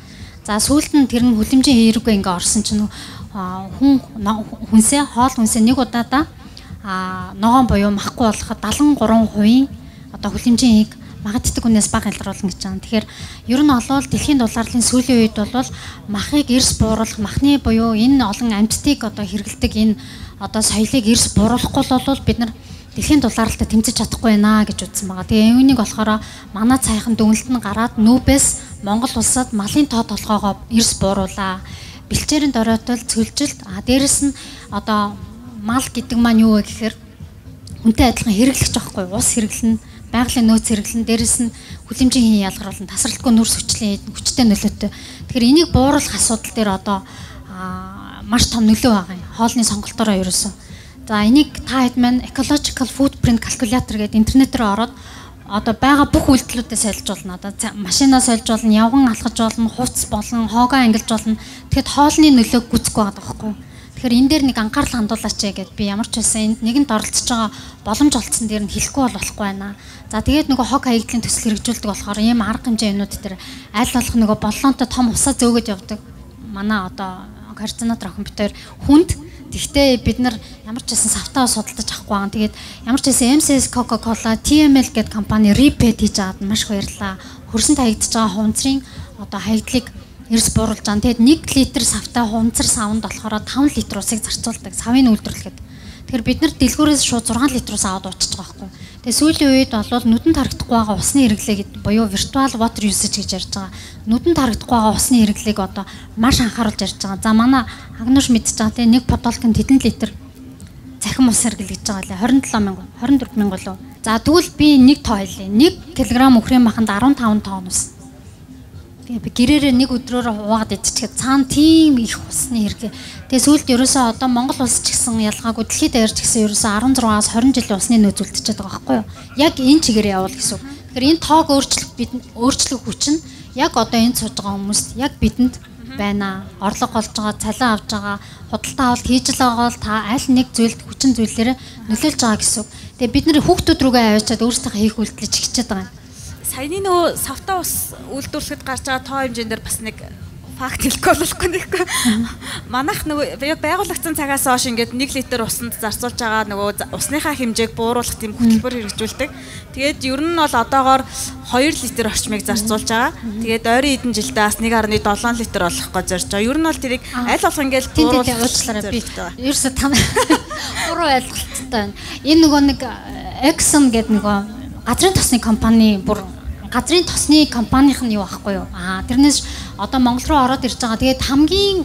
За сүүлд нь тэр нь хүлэмжийн хэрэггүй ингээ орсон чинь хүнсээ хоол хүнсээ нэг удаадаа ногоон буюу махгүй болоход 73% одоо хүлэмжийн хийг магаддаг хүнээс бага илруулна гэж байгаа. Тэгэхээр ер нь олвол дэлхийн дулааллын сүүлийн үед бол махыг эрс бууруулах, махны буюу энэ олон амьтдыг одоо хэрэгэлдэг энэ одоо соёлыг эрс бууруулахгүй бол бид нар дэлхийн дулаалалтад тэмцэж чадахгүй байна гэж үзсэн байгаа. Тэгээ үүнийг болохоор манай цайхан дүнэлт нь гараад нүүбээс Монгол улсад малын тоо толгоогоо эрс бууруулаа. Бэлчээрийн доройтол цөлжилт дээрэс нь одоо мал гэдэг маань юу вэ гэхээр хүнтэй адилхан хэрэглэгч байхгүй ус хэрэглэн байгалийн нөөц хэрэглэн дээрэс нь хүлэмжийн хийн ялгаруулна тасралтгүй нүрс хүчтэй нөлөөтэй. Тэгэхээр энийг бууруулах асуудал дээр одоо маш том нөлөө байгаа юм. Хоолны сонголтоороо ерөөсөн. За энийг та хэд маань ecological footprint calculator гэдэг интернетээр ороод одоо байгаа бүх үйлдэлүүдэд солилцуулна. Одоо машинаа солилцуулна, явган алхаж болно, хувцс болон хоогоо ангилж болно. Тэгэхэд хоолны нөлөөг гүцэхгүй байгаа байхгүй юу? Тэгэхээр энэ дээр нэг анхаарал хандуулаач гэд би ямар ч байсан энд нэгэнд оролцож байгаа боломж олцсон дээр нь хэлэхгүй болохгүй байна. За тэгээд нөгөө хог хаягдлын төсөл хэрэгжүүлдэг болохоор ийм арга хэмжээ юмнууд дээр аль болох нөгөө боллонтой том усаа зөөгөж явдаг. Манай одоо координатор охин битээр хүнд. Тэгвэл бид нар ямар ч байсан савтаа судалдаж авахгүй байгаа. Тэгээд ямар ч байсан MCS Coca-Cola, TML гэдэг компани repeat хийж аваад маш их баярлаа. Хөрсөнд хаягдж байгаа хувцрын одоо хаягдлыг эрс бууруулж байгаа. Тэгээд 1 литр савтаа хувцар савнд болохоор 5 литр усыг зарцуулдаг. Савын үйлдвэрлэхэд. Тэгэхээр бид нар дэлгүүрээс шууд 6 литр ус аваад уучиж байгаа байхгүй. Тэгээ сүүлийн үед бол нүдэнд харагдахгүй байгаа усны хэрэглээ гэдэг буюу virtual water usage гэж ярьж байгаа. Нүдэнд харагдахгүй байгаа усны хэрэглээг одоо маш анхааруулж ярьж байгаа. За манай Агнууш мэдж байгаа тийм нэг бодолкын тэдэн литр цахим ус хэрэглэж байгаа лээ 27,000 24,000 болов. За тэгвэл би нэг тоо хэлье. 1 кг өхрийн маханд 15 тонн ус. Тэгээ би гэрээрээ нэг өдрөөр хуваагаад идчихээ цаана тийм их усны хэрэглээ. Тэгээ сүүлд ерөөсөө одоо Монгол улс ч гэсэн ялгаагүй дэлхийд даяарч гэсэн ерөөсөө 16-аас 20 жилийн усны нөөц үлдчихэж байгаа байхгүй юу? Яг энэ чигээр явуул гэсэн. Тэгэхээр энэ тоог өөрчлөх хүч нь яг одоо энд сууж байгаа хүмүүст яг бидэнд байна. Орлого олж байгаа, цалин авж байгаа, худалдаа авалт хийж байгаа бол та аль нэг зүйлд хүчин зүйлээрээ нөлөөлж байгаа гэсэн. Тэгээ бид нэр хүүхдүүд рүүгээ аваачаад өөрсдийнхөө хийх үйлдэлж хичээд байгаа юм. Саяны нөгөө савтаа ус үйлдвэрлэхэд гарч байгаа тоо хэмжээнд бас нэг факт хэлэхгүй болохгүй нэхгүй. Манайх нөгөө байгуулагдсан цагаас хойш ингээд 1 литр усанд зарцуулж байгаа нөгөө усныхаа хэмжээг бууруулах тийм хөтөлбөр хэрэгжүүлдэг. Тэгээд ер нь бол одоогоор 2 литр орчмыг зарцуулж байгаа. Тэгээд ойрын хэдэн жилдээ бас 1.7 литр болох гэж зорж байгаа. Ер нь бол тэрийг аль болох ингээд бууруулах уучлаарай би. Ерөөсө та буруу ойлголттой байна. Энэ нөгөө нэг Exxon гэдэг нөгөө газрын тосны компани бүр газрын тосны компанийх нь юу байхгүй юу? Тэрнээс одоо Монгол руу ороод ирж байгаа. Тэгээд хамгийн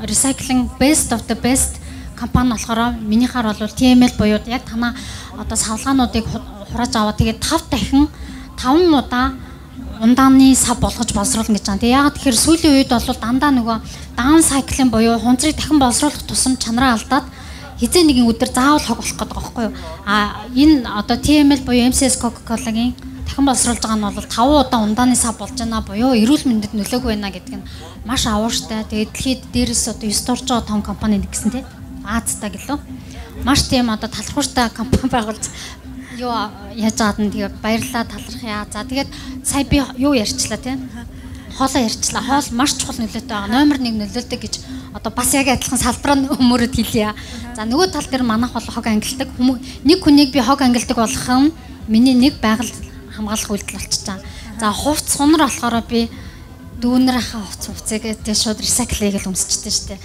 recycling best of the best компани болохоор минийхаар бол TML буюу яг танаа одоо савлгаануудыг хурааж аваад тэгээд 5 дахин 5 удаа ундааны сав болгож боловсруулна гэж байгаа. Тэгээд яагаад тэгэхээр сүүлийн үед бол дандаа нөгөө down cycling буюу хунцрыг дахин боловсруулах тусам чанараа алдаад хизээ нэгэн өдөр заавал хог болох гэдэг байгаа байхгүй юу? Энэ одоо TML буюу MCS Coca-Cola-гийн дахин боловсруулж байгаа нь бол 5 удаа ундааны сав болж байна буюу эрүүл мэндэд нөлөөгүй байна гэдэг нь маш авууштай. Тэгээд дэлхийд дээрээс одоо 9 дорж байгаа том компани нэг гэсэн тийм Азтай гэлөө. Маш тийм одоо талархууштай компани байгуулж юу яаж байгаад нь тэгээд баярлалаа талархъя. За тэгээд сая би юу ярьчлаа тийм хоолоо ярьчлаа. Хоол маш чухал нөлөөтэй байгаа. Номер 1 нөлөөлдөг гэж одоо бас яг адилхан салбараа өмөрөд хэлье. За нөгөө тал дээр манайх бол хог ангилдаг. Нэг хүнийг би хог ангилдаг болох нь миний нэг байгаль хамгаалах үйлдэл болчихсон. За хувц сунар болохоор би дүүнэрийнхаа хувцыг гэдэг шууд recycle хийгээл өмсчихдээ штэ.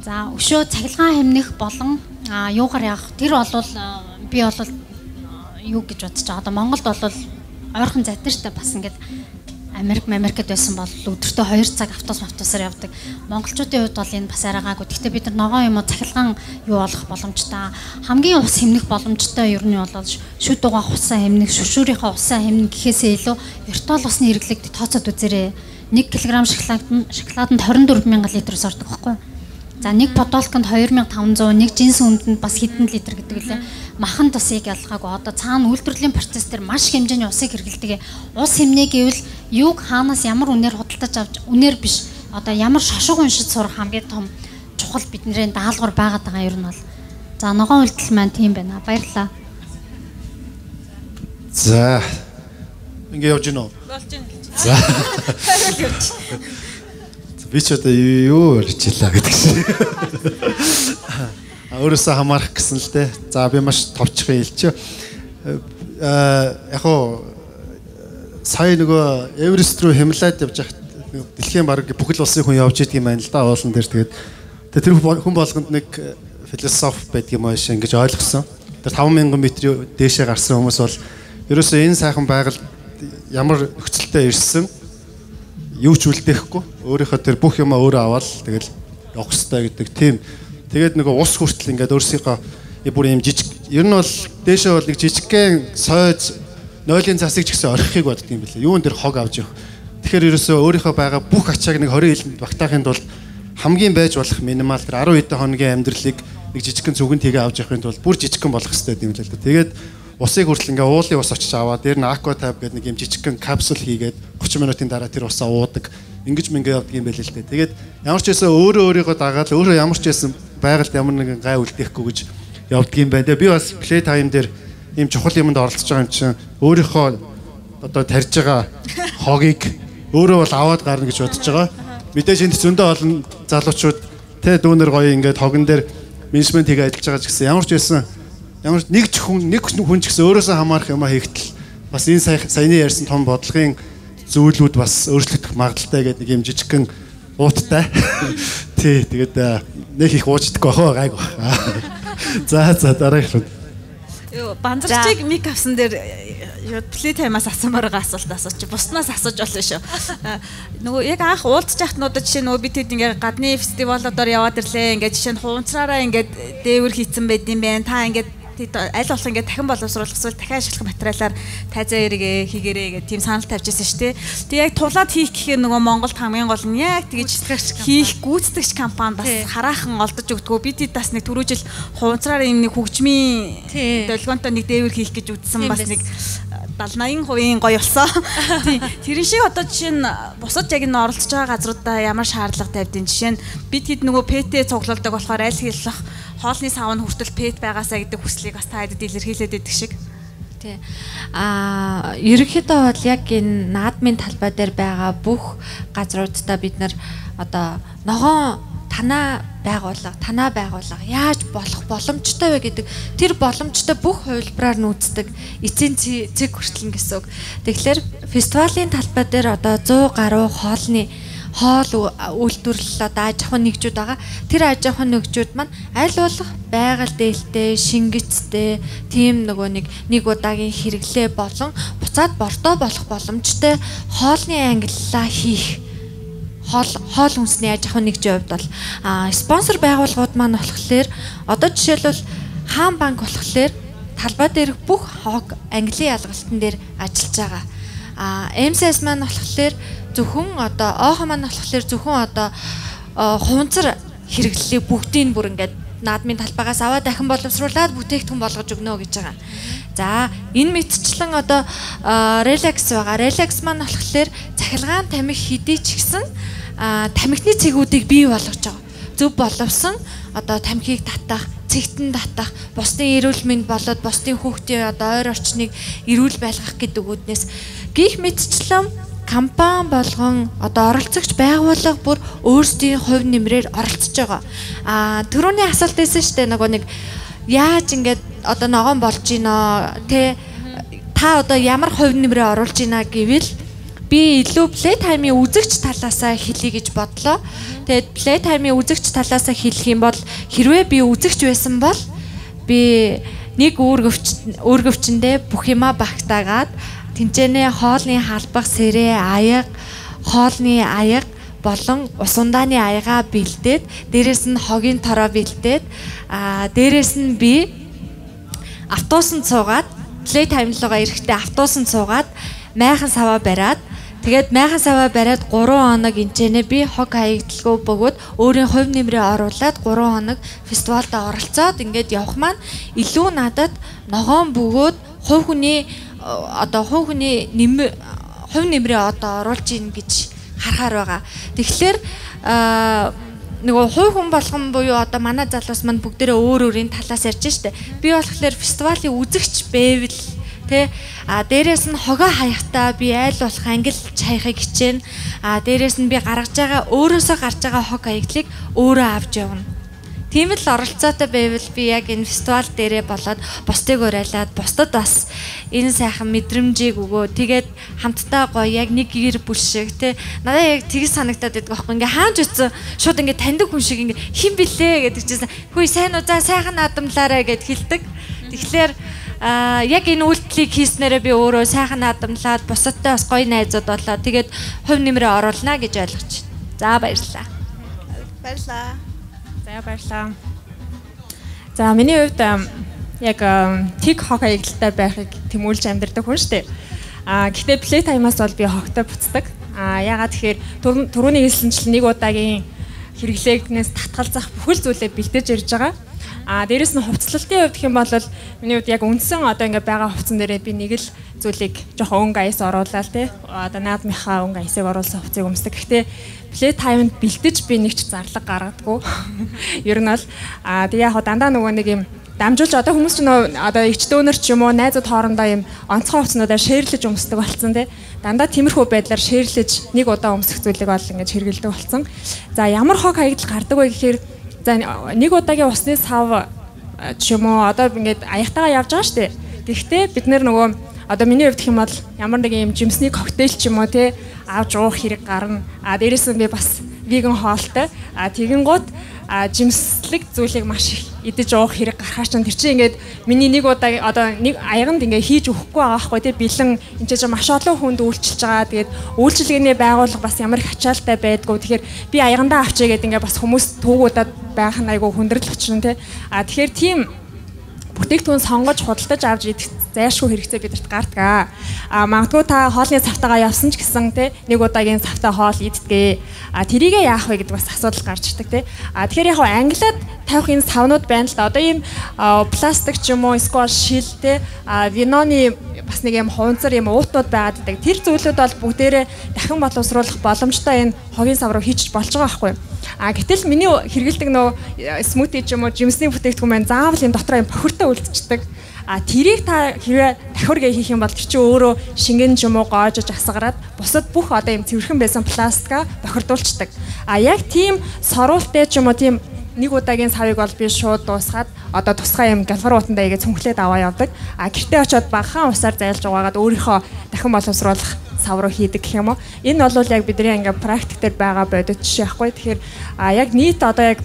За өшөө цахилгаан хэмнэх болон юугаар явах тэр бол би бол юу гэж бодож байгаа. Одоо Монголд бол ойрхон задна штэ бас ингээд Америкт байсан бол өдөртөө 2 цаг автобусаар явдаг. Монголчуудын хувьд бол энэ бас арайгаагүй. Гэхдээ бид нар ногоон юм уу цахилгаан юу болох боломжтой. Хамгийн ус хэмнэх боломжтой ер нь бол шүд угаах усаа хэмнэх, шүршүүрийнхээ усаа хэмнэх гэхээсээ илүү виртуал усны хэрэглээг тооцоод үзээрэй. 1 кг шоколаданд 24,000 литр ордог байхгүй юу? За нэг бодолконд 2500, нэг жинс үндэнд бас хэдэн литр гэдэг үлээ. Махан тусыг ялгаагүй. Одоо цаана үйлдвэрлэлийн процесс дээр маш хэмжээний усыг хэрэглэдэг. Ус хэмнээ гэвэл юуг хаанаас ямар үнээр худалдаж авч үнээр биш. Одоо ямар шошго уншиж сурах хамгийн том чухал бидний даалгавар байгаад байгаа юм бол. За ногоон үйлдэл маань тийм байна. Баярлалаа. За. Ингээ явж гинөө. Болж байна. За. Би ч одоо юу ярьчихлаа гэдэг шиг. Өөрөөсөө хамаарах гэсэн л дээ. За би маш товчхон хэлчихэ. Яг уу сая нөгөө Эверест рүү Хималайд явж байхад дэлхийн баг бүхэл улсын хүн явж идэг юм байна л да уулан дээр тэгээд тэр хүн болгонд нэг философи байдаг юм ааш ингэж ойлгосон. Тэр 5000 м дээшээ гарсан хүмүүс бол ерөөсөө энэ сайхан байгаль ямар нөхцөлтэй ирсэн юу ч үлдээхгүй өөрийнхөө тэр бүх юм өөрөө аваад тэгэл явах хэрэгтэй гэдэг тийм. Тэгээд нөгөө ус хүртэл ингээд өөрсдийнхөө бүр юм жижиг ер нь бол дээшээ бол нэг жижигхэн сойж нойлын засыг ч гэсэн орхихыг боддог юм билээ. Юун дээр хог авч явах. Тэгэхээр ерөөсөө өөрийнхөө байгаа бүх ачааг нэг 20 жилд багтаахын тулд хамгийн байж болох минимал тэр 10 хэдэн хоногийн амьдралыг нэг жижигхэн зүгэн тгээ авч явахын тулд бүр жижигхэн болох хэрэгтэй юм л да. Тэгээд усыг хүртэл ингээ уулын ус очиж аваад дээр нь aqua tab гэдэг нэг юм жижигхэн капсул хийгээд 30 минутын дараа тэр усаа уудаг. Ингиж мингээ явдаг юм байл л дээ. Тэгээд ямар ч байсан өөрийгөө дагаад өөрөө ямар ч байсан байгальд ямар нэгэн гай үлдээхгүй гэж явдаг юм байна. Би бас play time дээр ийм чухал юмд оролцож байгаа юм чинь өөрийнхөө одоо тарьж байгаа хогийг өөрөө бол аваад гарна гэж бодож байгаа. Мэдээж энд зөндөө олон залуучууд тэ дүүнер гоё ингээд хогон дээр менежмент хийгээ ажиллаж байгаа ч гэсэн ямар ч байсан ямар нэг хүн ч гэсэн өөрөөсөө хамаарах юм хийгтэл бас энэ саяны ярьсан том бодлогын зүйлүүд бас өөрчлөгдөх магадaltaй гэдэг нэг юм жижигхэн ууттай. Тий, тэгээд нэг их уучдаггүй бахаа гайг ба. За дараагийн. Юу бандарчиг мик авсан дээр плей таймаас асуумаар байгаа асуулт асууч. Буснаас асууж болно шүү. Нөгөө яг анх уулзж яхтнуудад жишээ нөгөө бид хэд ингээ гадны фестивалуудаар яваад ирлээ. Ингээ жишээ нь хуунцраараа ингээ дээвэр хийцэн байд юм байна. Та ингээ аль болох ингээ дахин боловсруулах эсвэл дахин ашиглах материалаар тайзаа эргээ хийгэрээ гэх тийм санал тавьжсэн шүү дээ. Тэг яг тулаад хийх гэхээр нөгөө Монголд хамгийн гол нь яг тэгж хийх гүйцэтгэгч компани бас хараахан олдож өгдгөө. Бид бас нэг түрүү жил хуунцраар юм нэг хөгжмийн долгионтой нэг дээвэр хийх гэж үзсэн бас нэг 70-80% гоё болсон. Тэрэн шиг одоо жишээ нь бусад яг энэ оролцож байгаа газруудаа ямар шаардлага тавьдیں۔ Жишээ нь бид хэд нөгөө ПТ цуглуулдаг болохоор аль хэлэх хоолны сав нь хүртэл ПТ байгаасаа гэдэг хүслийг бас та хэдэд илэрхийлээд байдаг шиг. Тий. Ерөнхийдөө бол яг энэ наадмын талбай дээр байгаа бүх газруудаа бид нар одоо ногоон танаа байгуулга яаж болох боломжтой вэ гэдэг тэр боломжтой бүх хувилбараар нүүцдэг эцсийн цэг хүртэл гэсэн үг. Тэгэхээр фестивалийн талбай дээр одоо 100 гаруй хоол үйлдвэрлэл одоо аж ахуйн нэгжүүд байгаа. Тэр аж ахуйн нэгжүүд маань аль болох байгаль дээлтэй, шингэцтэй, тийм нэг удаагийн хэрэглээ болон буцаад бортоо болох боломжтой хоолны ангиллаа хийх хоол хүнсний аж ахуйн нэгжийн хувьд бол спонсор байгууллагууд маань болохоор одоо жишээлбэл хаан банк болохоор талбай дээрх бүх хог английн ялгалтан дээр ажиллаж байгаа. МСС маань болохоор зөвхөн одоо ОХ маань болохоор зөвхөн одоо хуванцар хэрэглэлийг бүгдийг бүр ингээд наадмын талбайгаас аваад дахин боловсруулад бүтээгдэхүүн болгож өгнө гэж байгаа. За энэ мэтчлэн одоо релакс байгаа. Релакс маань болохоор цахилгаан тамхи хэдий ч гэсэн тамхины цэгүүдийг бий болгож байгаа. Зөв боловсон одоо тамхиг татах, цэгтэн татах, бусдын эрүүл мэнд болоод бусдын хүүхдийн одоо ойр орчныг эрүүл байлгах гэдэг үднээс гих мэтчлэн компани болгон одоо оролцогч байгууллага бүр өөрсдийн хувь нэмрээр оролцож байгаа. Түрүүний асуулт байсан шүү дээ нэг яаж ингээд одоо ногоон болж гинэ тэ та одоо ямар хувь нэмрээ оруулж гинэ гэвэл би илүү play time-ийн үзэгч талаасаа хэлье гэж бодлоо. Тэгээд play time-ийн үзэгч талаасаа хэлэх юм бол хэрвээ би үзэгч байсан бол би нэг үүргэвчэндээ бүх юма багтаагаад тэнцэнэ хоолны халбах сэрээ аяга, хоолны аяга болон усундааны аягаа бэлдээд дээрэс нь хогийн тороо бэлдээд дээрэс нь би автобусанд суугаад play time руугаа эрэхтэй автобусанд суугаад майхан саваа бариад тэгээд майхан саваа бариад 3 хоног энчэнэ би хог хаягдлгүй бөгөөд өөрийн хувь нэмрээ оруулаад 3 хоног фестивалд оролцоод ингээд явах маань илүү надад ногоон бөгөөд хувь хүний нэмрээ одоо оруулж ийн гэж харахаар байгаа. Тэгэхээр нөгөө хувь хүн болгон буюу одоо манай залуус манд бүгдээрээ өөр өөрийн талаас ярьж штэ. Би болохоор фестивалийн үзэгч байвал тэ дээрээс нь хогоо хаяхтаа би айл болох ангилж хаяхыг хичээнэ. Дээрээс нь би гаргаж байгаа өөрөөсөө гарч байгаа хог хаягдлыг өөрөө авч явна. Тийм л оролцоотой байвал би яг энэ фестивал дээрээ болоод бусдыг уриалаад бусдад бас энэ сайхан мэдрэмжийг өгөө. Тэгээд хамтдаа гоё яг нэг гэр бүл шиг те надад яг тэгс санагдаад байдаг байхгүй. Ингээ хаанч утсан шууд ингээ таньдаг хүн шиг ингээ хин блэ гэдэг чийсэн. Хөөе сайн уу за сайхан наадамлаарэ гэд хэлдэг. Тэгэхээр яг энэ үйлдэлийг хийснээрээ би өөрөө сайхан наадамлаад бусадтай бас гоё найзууд болоо. Тэгээд хувь нэмрээ оруулна гэж ойлгож байна. За баярлалаа. Баярлалаа. За баярлалаа. За миний хувьд яг тиг хог хаягдaltaй байхыг тэмүүлж амьдардаг хүн шүү дээ. Гэхдээ плей таймаас бол би хогтой буцдаг. Ягаад тэгэхээр түрүүний хэлсэнчлэн нэг удаагийн хэрэглээгнээс татгалзах бүхэл зүйлээ бэлдэж ирж байгаа. Дээрэс нь хувцлалтын хувьд гэх юм бол миний хувьд яг үндсэн одоо ингээ байгаа хувцсан дээрээ би нэг л зүйлийг жоохон өнгө аяс оруулаад те одоо наадмынхаа өнгө аясыг оруулсан хувцсыг өмсдөг. Гэхдээ плей таймд бэлдэж би нэг ч зарлаг гаргадаггүй. Ер нь бол тэг яг дандаа нөгөө нэг юм дамжуулж одоо хүмүүс ч нөө одоо эгчтөөнөр ч юм уу найзууд хоорондоо юм онцгой хувцснуудаар шеэрлэж өмсдөг болсон те. Дандаа тиймэрхүү байдлаар шеэрлэж нэг удаа өмсөх зүйлийг бол ингэж хэрэгэлдэг болсон. За ямар хог хаягдал гардаг вэ гэхээр за нэг удаагийн усны сав ч юм уу одоо ингээд аягтайгаа явж байгаа шүү дээ. Тэгэхдээ бид нөгөө одоо миний хувьд гэх юм бол ямар нэг юм жимсний коктейл ч юм уу те авч уух хэрэг гарна. Дээрээс нь би бас веган хоолтой. Тэгэнгუთ жимслэг зүйлийг маш их идэж уух хэрэг гарахаар ч тэр чинь ингээд миний нэг удаа одоо нэг аяганд ингээд хийж өгөхгүй байгаа байхгүй те бэлэн энэ ч маш олон хүнд үйлчилж байгаа. Тэгээд үйлчилгээний байгууллага бас ямар их ачаалтай байдгүй. Тэгэхээр би аягандаа авчээ гэдэг ингээд бас хүмүүс түүгуудад байх нь айгүй хүндрэл очрон те. Тэгэхээр тийм бүтээгдэхүүн сонгож худалдаж авч идэх зайлшгүй хэрэгцээ бидэрт гардаг. Магадгүй та хоолны савтайгаа явсан ч гэсэн те нэг удаагийн савтай хоол идтгээ. Тэрийгээ яах вэ гэдэг бас асуудал гарч ирдэг те. Тэгэхээр яг англиад тавих энэ савнууд байна л да. Одоо ийм пластик ч юм уу эсвэл шил те виноны бас нэг юм хуванцар юм уутууд байгаад байдаг. Тэр зүйлүүд бол бүгдээрээ дахин боловсруулах боломжтой энэ хогийн сав руу хийчих болж байгаа байхгүй юу? Гэтэл миний хэрэгэлдэг нөө смути ч юм уу жимсний бүтээгдэхүүн маань заавал энэ дотор юм бохиртой үлдчихдэг. Тэрийг та хэрвээ давхаргээ хийх юм бол тэр чинь өөрөө шингэн ч юм уу гоожож асгараад бусад бүх одоо юм цэвэрхэн байсан пластика бохирдуулцдаг. Яг тийм соруулттай ч юм уу тийм нэг удаагийн савыг бол би шууд дуусгаад одоо тусгай юм галфар уутандаа игээ цүнхлээд аваа явдаг. Гэртээ очиод багахан усаар зайлж угаагаад өөрийнхөө дахин боловсруулах сав руу хийдэг гэх юм уу. Энэ бол яг бидний ингээ практик дээр байгаа бодит жишээ байхгүй. Тэгэхээр яг нийт одоо яг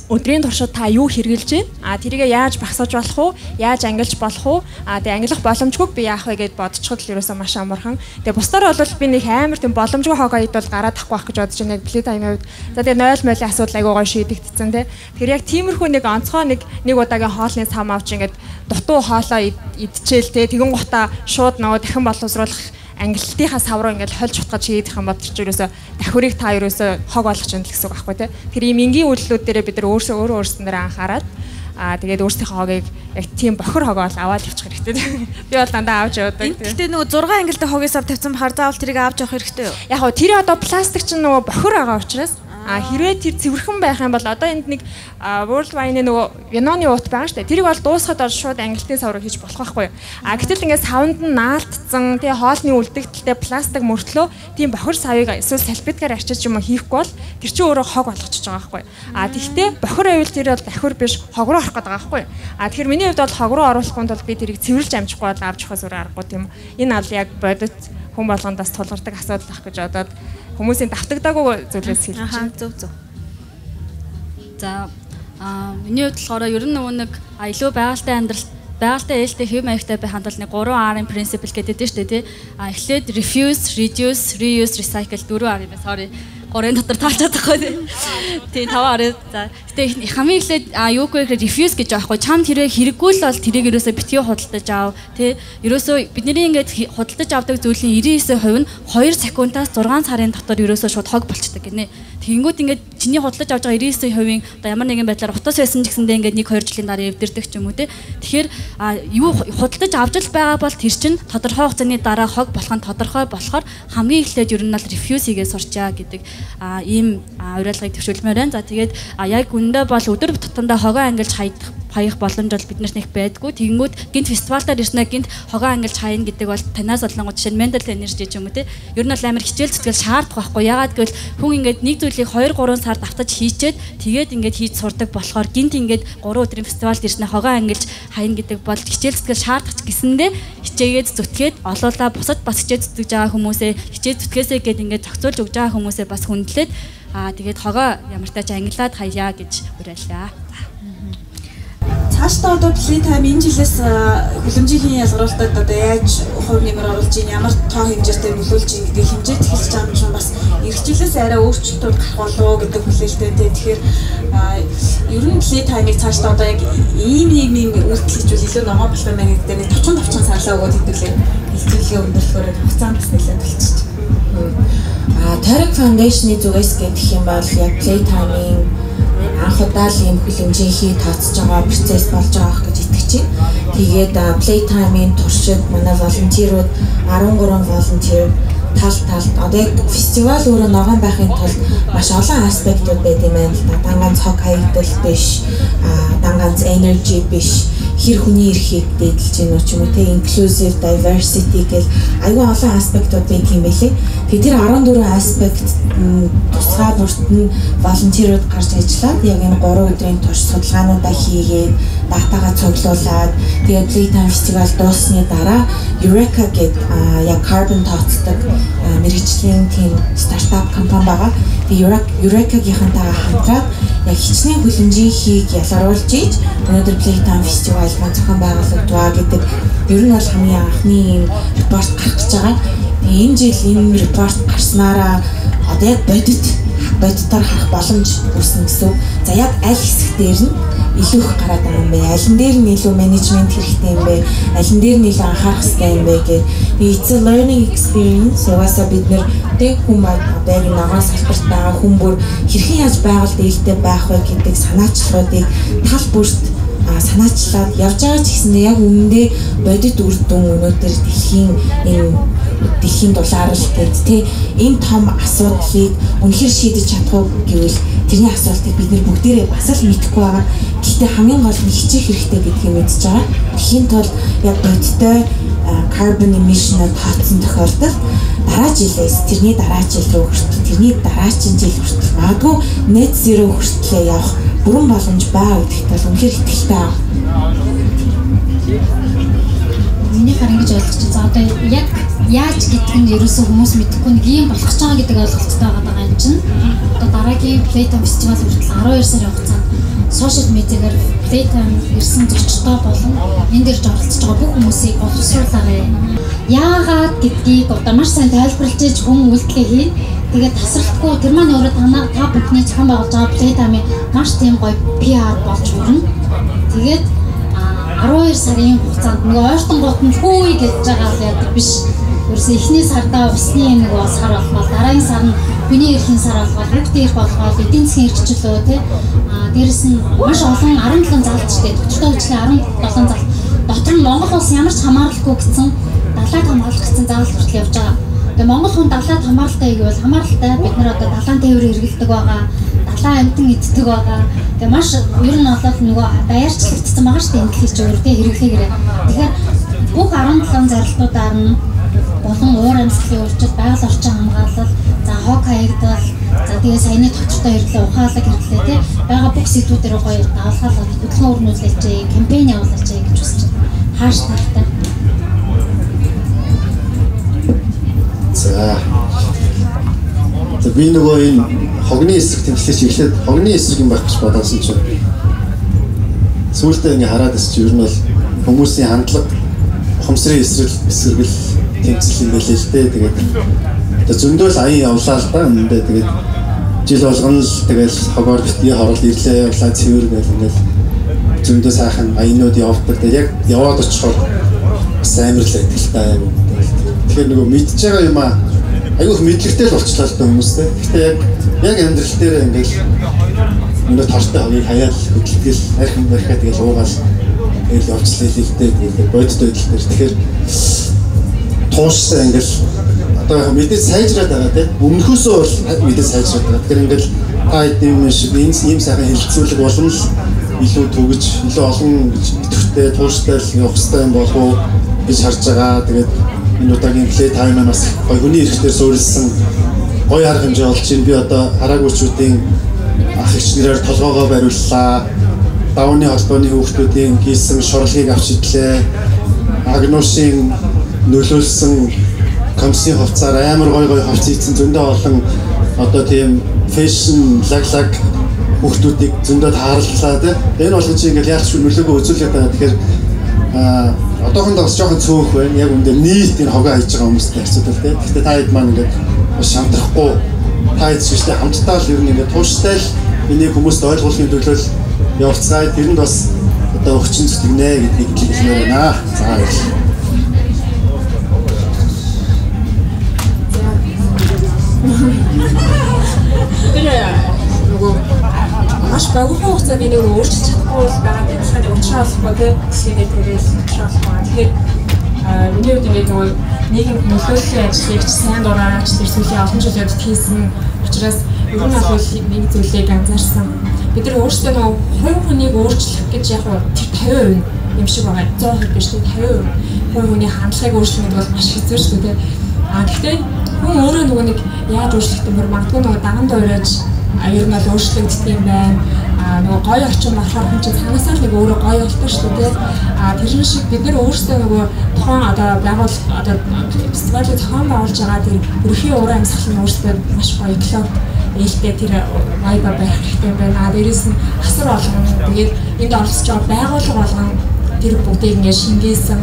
өдрийн туршид та юу хэрэгжилж байна? Тэрийгээ яаж багсаж болох уу? Яаж ангилж болох уу? Тэгээ ангилах боломжгүйг би яах вэ гэд бодчиход л ерөөсөө маш амархан. Тэгээ бусдаар бол би нэг амар тийм боломжгүй хог аяд бол гараад тахгүй байх гэж бодож байна. Яг плей таймын үед. За тэгээ 0-0 асуудал айгуу гоё шийдэгдсэн тий. Тэгэхээр яг тиймэрхүү нэг онцгой нэг удаагийн хоолны сам авч ингээд дутуу хоолоо идчихэл тий. Тэгэн гутаа шууд нөгөө дахин боловсруулах ангиллтынхаа сав руу ингээд хольж утгаж хийдэх юм бол тэр чинь ерөөсөө давхрыг та ерөөсөө хог болгож байна гэсэн үг байхгүй тий. Тэр ийм энгийн үйлдэлүүд дээрээ бид нар өөрсдөө анхаарад тэгээд өөрсдийнхөө хогийг яг тийм бохир хогоо аваад явчих хэрэгтэй. Би бол дандаа авч явдаг. Гэхдээ нөгөө 6 ангилтай хогийн сав тавьсан бахаар заавал тэрийг авч явах хэрэгтэй юу? Яг гоо тэр одоо пластик чинь нөгөө бохир байгаа учраас хэрвээ тэр цэвэрхэн байх юм бол одоо энд нэг World Wine-ийн нөгөө виноны уут байгаа шүү дээ. Тэрийг бол дуусгаад бол шууд ангилтын сав руу хийж болох байхгүй юу? Гэтэл ингээд савнд нь наалтцсан тэгээ хоолны үлдэгдэлтэй пластик мөртлөө тийм бохир савыг эсвэл салфеткаар арчиж юм хийхгүй бол тэр чинь өөрөө хог болгочихж байгаа байхгүй юу? Тэгэхдээ бохир байвал тэр бол давхир биш хог руу орох гэдэг байгаа байхгүй юу? Тэгэхээр миний хувьд бол хог руу оруулахгүй бол би тэрийг цэвэрлж амжихгүй бол авч явахаас өөр аргагүй тийм үү? Энэ бол яг бодит хүн болгондоос тулгардаг асуудал ах гэж бодоод хүмүүсийн давтагдаагүй зүйлээс хэлж байна. Зөв. За миний хувьд болохоор ер нь нөгөө нэг илүү байгальтай ээлтэй хэв маягтай байх хандлал нэг 3R-ын принципл гэдэг дээ шүү дээ тий. Эхлээд refuse, reduce, reuse, recycle 4R юм байна. Sorry. 3-ын дотор таалж чадахгүй тий 5R. За гэтээ хамгийн эхлээд юу гэхээр refuse гэж аахгүй чам тэрэг хэрэггүй л бол тэрийг ерөөсөө битгий худалдаж аав тий ерөөсөө бидний ингээд худалдаж авдаг зүйлийн 99% нь 2 секундаас 6 сарын дотор ерөөсөө шууд хог болчдөг гинэ. Тэгэнгүүт ингээд чиний худалдаж авж байгаа 99%-ийн одоо ямар нэгэн байдлаар утас байсан ч гэсэндээ ингээд 1-2 жилийн дараа эвдэрдэг ч юм уу тий. Тэгэхээр юу худалдаж авч л байгаа бол тэр чинь тодорхой хугацааны дараа хог болох нь тодорхой болохоор хамгийн эхлээд ер нь бол refuse хийгээ сурчаа гэдэг ийм уриалгыг төвшүүлмээр байна. За тэгээд яг үндэ бол өдөр тутамдаа хогоо ангилж хаях боломж бол биднэрт нэг байдгүй. Тэгэнгүүт гинт фестивалаар ирснэ гинт хогоо ангилж хаяна гэдэг бол танаас олонгууд жишээ нь mental energy ч юм уу те. Ер нь бол амар хичээл зүтгэл шаардах байхгүй. Ягаад гэвэл хүн ингээд нэг зүйлийг 2-3 сар давтаж хийчээд тэгээд ингээд хийж сурдаг болохоор гинт ингээд 3 өдрийн фестивалд ирснэ хогоо ангилж хаяна гэдэг бол хичээл зүтгэл шаардах гэсэндээ хичээгээд зүтгээд олуулаа бусад бас хичээл зүтгэж байгаа хүмүүсээ хичээл зүтгээсэй гэд ингээд зохицуулж өгж байгаа хүмүүсээ бас хүндлээд тэгээд хогоо ямар тач ангилаад хаяа гэж уриаллаа. Цаашдаа одоо Playtime энэ жилээс хүлэмжийн ялгаруулалтад одоо яаж хувь нэмэр оруулж ийн ямар тоо хэмжээтэй нөлөөлж ийн гэдэг хэмжээд хэлж байгаа юм шиг бас эх жилээс арай өөрчлөлтүүд гарах болов гэдэг хүлээлттэй. Тэгэхээр ер нь Playtime-ыг цаашдаа одоо яг ийм үйлдэл хийжүүл илүү ногоо болох юм байна гэдэг нэг товчхон сарлаа өгөөд хэдүүлээ хэлцүүлгээ өндөрлөхөөр хугацаанд бас нэлээд болчихчих. Тарик Foundation-ы зүгээс гэх юм бол яг Playtime-ийн анх удаа л ийм хүлэмжийнхий тооцож байгаа процесс болж байгаа гэж итгэж байна. Тэгээд Playtime-ийн туршид манай волонтерууд 13 волонтер талд одоо яг фестивал өөрөө ногоон байхын тулд маш олон аспектууд байд юм байна л да. Данганц хог хаягдал биш, данганц energy биш, хэр хүний эрхийг дээдлж гэнэ ч юм уу те inclusive diversity гэл аюул олон аспектууд байт юм байлээ. Тэгээд тэр 14 аспект тусгай бүрт нь волонтерууд гарч ажиллаад яг энэ 3 өдрийн турш судалгаануудаа хийгээд датагаа цуглуулад тэгээд Playtime фестивал дууссаны дараа Eureka гэдэг яг carbon тооцдог мэргэжлийн тийм стартап компани байгаа. Тэгээд Eureka-гийнхантайгаа хамтраад яг хичнээн хүлэмжийнхийг ялгаруулж ийж өнөөдөр Playtime фестивал маань зохион байгуулагдваа гэдэг ер нь бол хамгийн анхны юм репорт гарах гэж байгаа. Энэ жил энэ репорт гарснараа одоо яг бодитоор харах боломж үүснэ гэсэн. За яг аль хэсэг дээр нь илүү их гараад байгаа юм бэ? Аль нь дээр нь илүү менежмент хэрэгтэй юм бэ? Аль нь дээр нь илүү анхаарах хэрэгтэй юм бэ гэх. It's a learning experience. Угаасаа бид нэр тэг хүн одоо яг ногоон салбарт байгаа хүн бүр хэрхэн яаж байгальд ээлтэй байх вэ гэдэг санаачлалуудыг тал бүрт санаачлаад явж байгаа ч гэсэндээ яг үнэндээ бодит үр дүн өнөөдөр дэлхийн дулаарл гэдэг тий энэ том асуудлыг үнэхээр шийдэж чадах уу гэвэл тэрний асуултыг бид нэр бүгдээрээ бас л мэдэхгүй байгаа. Гэхдээ хамгийн гол нь хичээх хэрэгтэй гэдгийг мэдж байгаа. Тэхийн тулд яг бодиттой carbon emission-ыг тооцсон тохиолдолд дараа жилээс тэрний дараа жил рүү хүртэл тэрний дараагийн жил хүртэл магадгүй net zero хүртлээ явах бүрэн боломж байгаа гэдэгт бол үнэхээр итгэлтэй байна. Миний харин гэж ойлгож чинь за одоо яг яаж гэдэг нь ерөөсөө хүмүүс мэдэхгүй нэг юм болох ч байгаа гэдэг ойлголттой байгаа юм чинь. Одоо дараагийн Playtime фестивал хүртэл 12 сарын хугацаанд сошиал медиагаар Playtime ирсэн зочдоо болон энэ дэрж оролцож байгаа бүх хүмүүсийг боловсруулаарай. Яагаад гэдгийг одоо маш сайн тайлбарлаж иж хүн үйлдэлээ хийн. Тэгээд тасралтгүй тэр маань өөрөө та бүхний зохион байгуулж байгаа Playtime маш тийм гоё PR болж хүрнэ. Тэгээд 12 сарын хугацаанд нөгөө ойртон гутанд хөөе гэж байгаа л яадаг биш. Ерөөсөө эхний сардаа усны нөгөө сар болгоод дараагийн сар нь хүний эрхийн сар болгоод хүүхдийн эрх болгоод эдийн засгийн эрхчлөө тий. Дээрэс нь маш олон 17 залчтай төвчтэй хөгжлийн 17 зал. Дотор нь Монгол улс ямар ч хамааралгүй гэсэн далайд хамгаалах гэсэн заалт хүртэл явж байгаа. Тэгээ Монгол хүн далайд хамааралтай гэвэл хамааралтай бид нар одоо далайн тээвэр хэрэглэдэг байгаа. Далайн амтан иддэг байгаа. Тэгээ маш ер нь олоод нөгөө даяарчлагдсан байгаа шүү дээ энэ дэлхийд өөртөө хэрэглээгээрээ. Тэгэхээр бүх 17 зарилтуудаар нь болон уур амьсгалын өөрчлөлт, байгаль орчин хамгаалал, за хог хаягдал, за тэгээ саяны товчтой хэрэглээ, ухаалаг хэрэглээ тий байгаа бүх сэдвүүдээр гоё давалгаалаад хөдөлгөөн өрнүүлж, кампань явуулж гэж хүсэж байна. Хааш таартай. За би нөгөө энэ хогны эсрэг тэмцлээч эхлээд хогны эсрэг юм байх гэж бодсон чинь сүүлдээ ингээ хараад ирсэн чинь ер нь бол хүмүүсийн хандлага ухамсарын эсрэгэл тэмцэл юм байлээ л дээ. Тэгээд зөндөө л аян явлаа л да энэ тэгээд жил болгоно л тэгэл хогоор битгий хорол ирлээ явлаа цэвэр гэл ингээл зөндөө сайхан аянууд явдаг. Тэгээд яг яваад очихоор бас амар л адилтай юм. Тэгэхээр нөгөө мэдж байгаа юм аа айгүйх мэдлэгтэй л болчлаа л да хүмүүстэй. Гэхдээ яг амьдрал дээр ингээл өнөө тортой хогийг хаяал хөдөлгөл архин барихаа тэгэл уугаал тэгэл явцлаа л дээ. Тэгээд бодит байдал дээр тэгэхээр тууштай ингээл одоо мэдээж сайжраад байгаа тийм өмнөхөөсөө бол мэдээж сайжраад байгаа. Тэгэхээр ингээл та хэдийн шиг ийм сайхан хэлэлцүүлэг болон л илүү төгөж илүү олон идэвхтэй тууштай л явах хэрэгтэй юм болов уу гэж харж байгаа. Тэгээд энэ удаагийн play time бас гоё хүний эрэхтэр суурилсан гоё арга хэмжээ болж байна. Би одоо хараагуучуудын ах эгчнэрээр толгоогоо бариуллаа. Давны холбооны хүүхдүүдийн хийсэн шурлыг авч идлээ. Агнуушийн нөлөөлсөн компси хувцаар амар гоё хувц ийцэн зөндөө олон одоо тийм фэшн лаглаг хүүхдүүдийг зөндөө тааралцлаа тийм. Энэ болгон чи ингээл яг ч нөлөөгөө үзүүлээд байгаа. Тэгэхээр одоохондоо бас жоохон цөөх байна. Яг үндэ нийт энэ хогоо хийж байгаа хүмүүстэй харьцуулбал тийм. Гэхдээ та хэд маань ингээд шамтрахгүй та хэд шигтэй хамтдаа л ер нь ингээд тууштай л энийг хүмүүст ойлгуулахын төлөө явцгаая. Тэрэнд бас одоо өгчин зүтгэнэ гэдгийг хэлмээр байна. За баярлалаа. нөгөө маш багахан хугацаанд энийг өөрчилж чадахгүй байгаа гэдэг нь уучраалахгүй тийм тэрээс уучраалахгүй. Тэгэхээр миний хувьд ингээд нөгөө нийгэм нөлөөллийн ажлыг сайн дураач тэр сүүлийн олон жилийн явцад хийсэн учраас ер нь бол нэг зүйлийг анзаарсан. Бид нар өөрсдөө нөгөө хувь хүнийг өөрчлөх гэж яг тэр 50% юм шиг байгаа. 100% биш тийм 50% хувь хүний хандлагыг өөрчлөх гэдэг бол маш хэцүү шүү дээ. Гэхдээ хүн өөрөө нөгөө нэг яаж өөрчлөх юм бэ? Магадгүй нөгөө даган дөрөөж ер нь бол өөрчлөгддөг юм байна. Нөгөө гоё орчин болохоор хүн чинь цаанаасаа л нэг өөрөө гоё болтой шүү дээ. Тэр шиг бид нар өөрсдөө нөгөө тухайн одоо байгуул одоо фестивалыг зохион байгуулж байгаа тэр бүрхийн уур амьсгалын өөрсдөө маш гоё клуб ээлтэй тэр вайба байх хэрэгтэй байна. Дээрээс нь асар болгон тэгээд энд оролцож байгаа байгууллага болгон тэр бүгдийг ингээд шингээсэн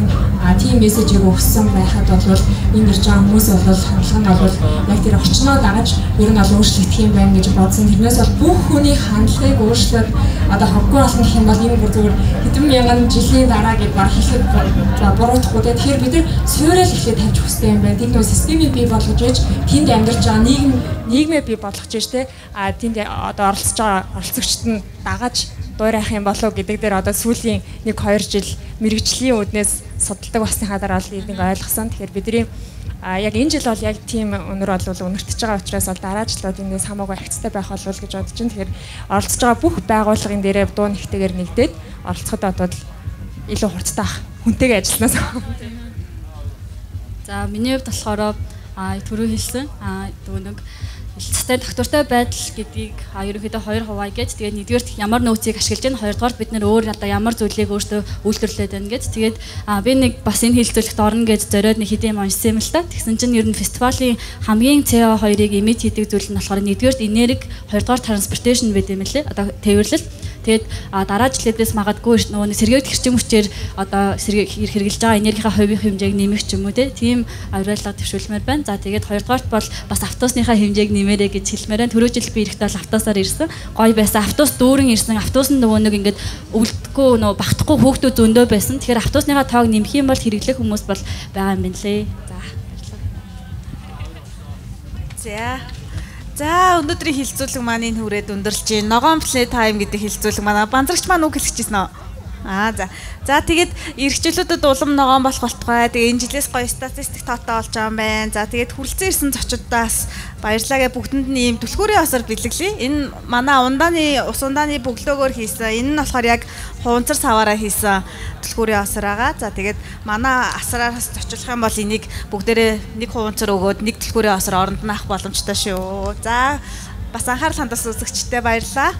тийм мессежийг өгсөн байхад бол энэ ирж байгаа хүмүүс бол хандлага нь бол яг тэр орчноо дагаж ер нь бол өөрчлөгдөх юм байна гэж бодсон. Тэрнээс бол бүх хүний хандлагыг өөрчлөөд одоо хоггүй болно гэх юм бол энэ бүр зүгээр хэдэн мянган жилийн дараа гэж баг хэлэхэд буруутахгүй. Тэгэхээр бид нар суурил ихлээр тавьж хүстэй юм байна. Тэнд нөө системийг бий болгож ээж тэнд амьдарч байгаа нийгмээ бий болгож ээж те тэнд одоо оролцож байгаа оролцогчд нь дагаж дуурайх юм болов гэдэг дээр одоо сүүлийн 1-2 жил мэрэгжлийн үүднээс судалдаг басныхаа дараа л энийг ойлгосон. Тэгэхээр бидний яг энэ жил бол яг тийм өнөр бол өнөртөж байгаа учраас бол дараа жилууд эндээс хамаагүй агцтай байх болов гэж бодож байна. Тэгэхээр оролцож байгаа бүх байгууллагын дээрээ дуу нэгтэйгээр нэгдээд оролцоход одоо илүү хурцтай хүнтэйгээ ажилланаас. За миний хувьд болохоор түрүү хэлсэн нэг Илцтэй доктортой байдал гэдгийг ерөнхийдөө 2 хуваа гэж тэгээд нэгдүгээр ямар нөөцийг ашиглаж байна, хоёрдугаар бид нэр өөр одоо ямар зүйлийг өөртөө үйлдвэрлээд байна гэж тэгээд би нэг бас энэ хэлэлцүүлэгт орно гэж зориод нэг хэдийн уншсан юм л та. Тэгсэн чинь ер нь фестивалийн хамгийн CO2-ыг эмит хийдэг зүйл нь болохоор нэгдүгээр энерги, хоёрдугаар transportation байд юм лээ. Одоо тээвэрлэл. Тэгээд дараа жилээс магадгүй нөгөө сэргээгдэх хэрчим хүчээр одоо хэрэгжилж байгаа энергийнхаа хувийн хэмжээг нэмэх ч юм уу тийм авиаллага төвшүүлмээр байна. За тэгээд хоёрдугаарт бол бас автобусныхаа хэмжээг нэмээрэй гэж хэлмээр байна. Түрүү жил би ирэхдээ бол автобусаар ирсэн. Гоё байсан. Автобус дүүрэн ирсэн. Автобус нь нөгөө нэг ингээд өвлдөхгүй нөгөө багтахгүй хөөгдөө зөндөө байсан. Тэгэхээр автобусныхаа тоог нэмэх юм бол хэрэглэх хүмүүс бол байгаа юм байна лээ. За. За өнөөдрийн хилцүүлэг маань энэ хүрээд өндөрлж байна. Ногоон play time гэдэг хилцүүлэг манай банзрагч маань үг хэлчихсэн үү? За тэгээд эрхчлүүдэд улам ногоон болох болтугай. Тэгээ энэ жилээс гоё статистик тоотой болж байгаа юм байна. За тэгээд хүрэлцэн ирсэн зочдоос баярлалаа. Бүгдэнд нь ийм түлхүүрийн осор бэлэглэе. Энэ манай ус ундааны бөглөөгөөр хийсэн. Энэ нь болохоор яг хуванцар саваараа хийсэн түлхүүрийн осор байгаа. За тэгээд манай асраас зочлох юм бол энийг бүгдээрээ нэг хуванцар өгөөд нэг түлхүүрийн осор оронд нь авах боломжтой шүү. За бас анхаарал хандуулсан үзэгчдээ баярлалаа.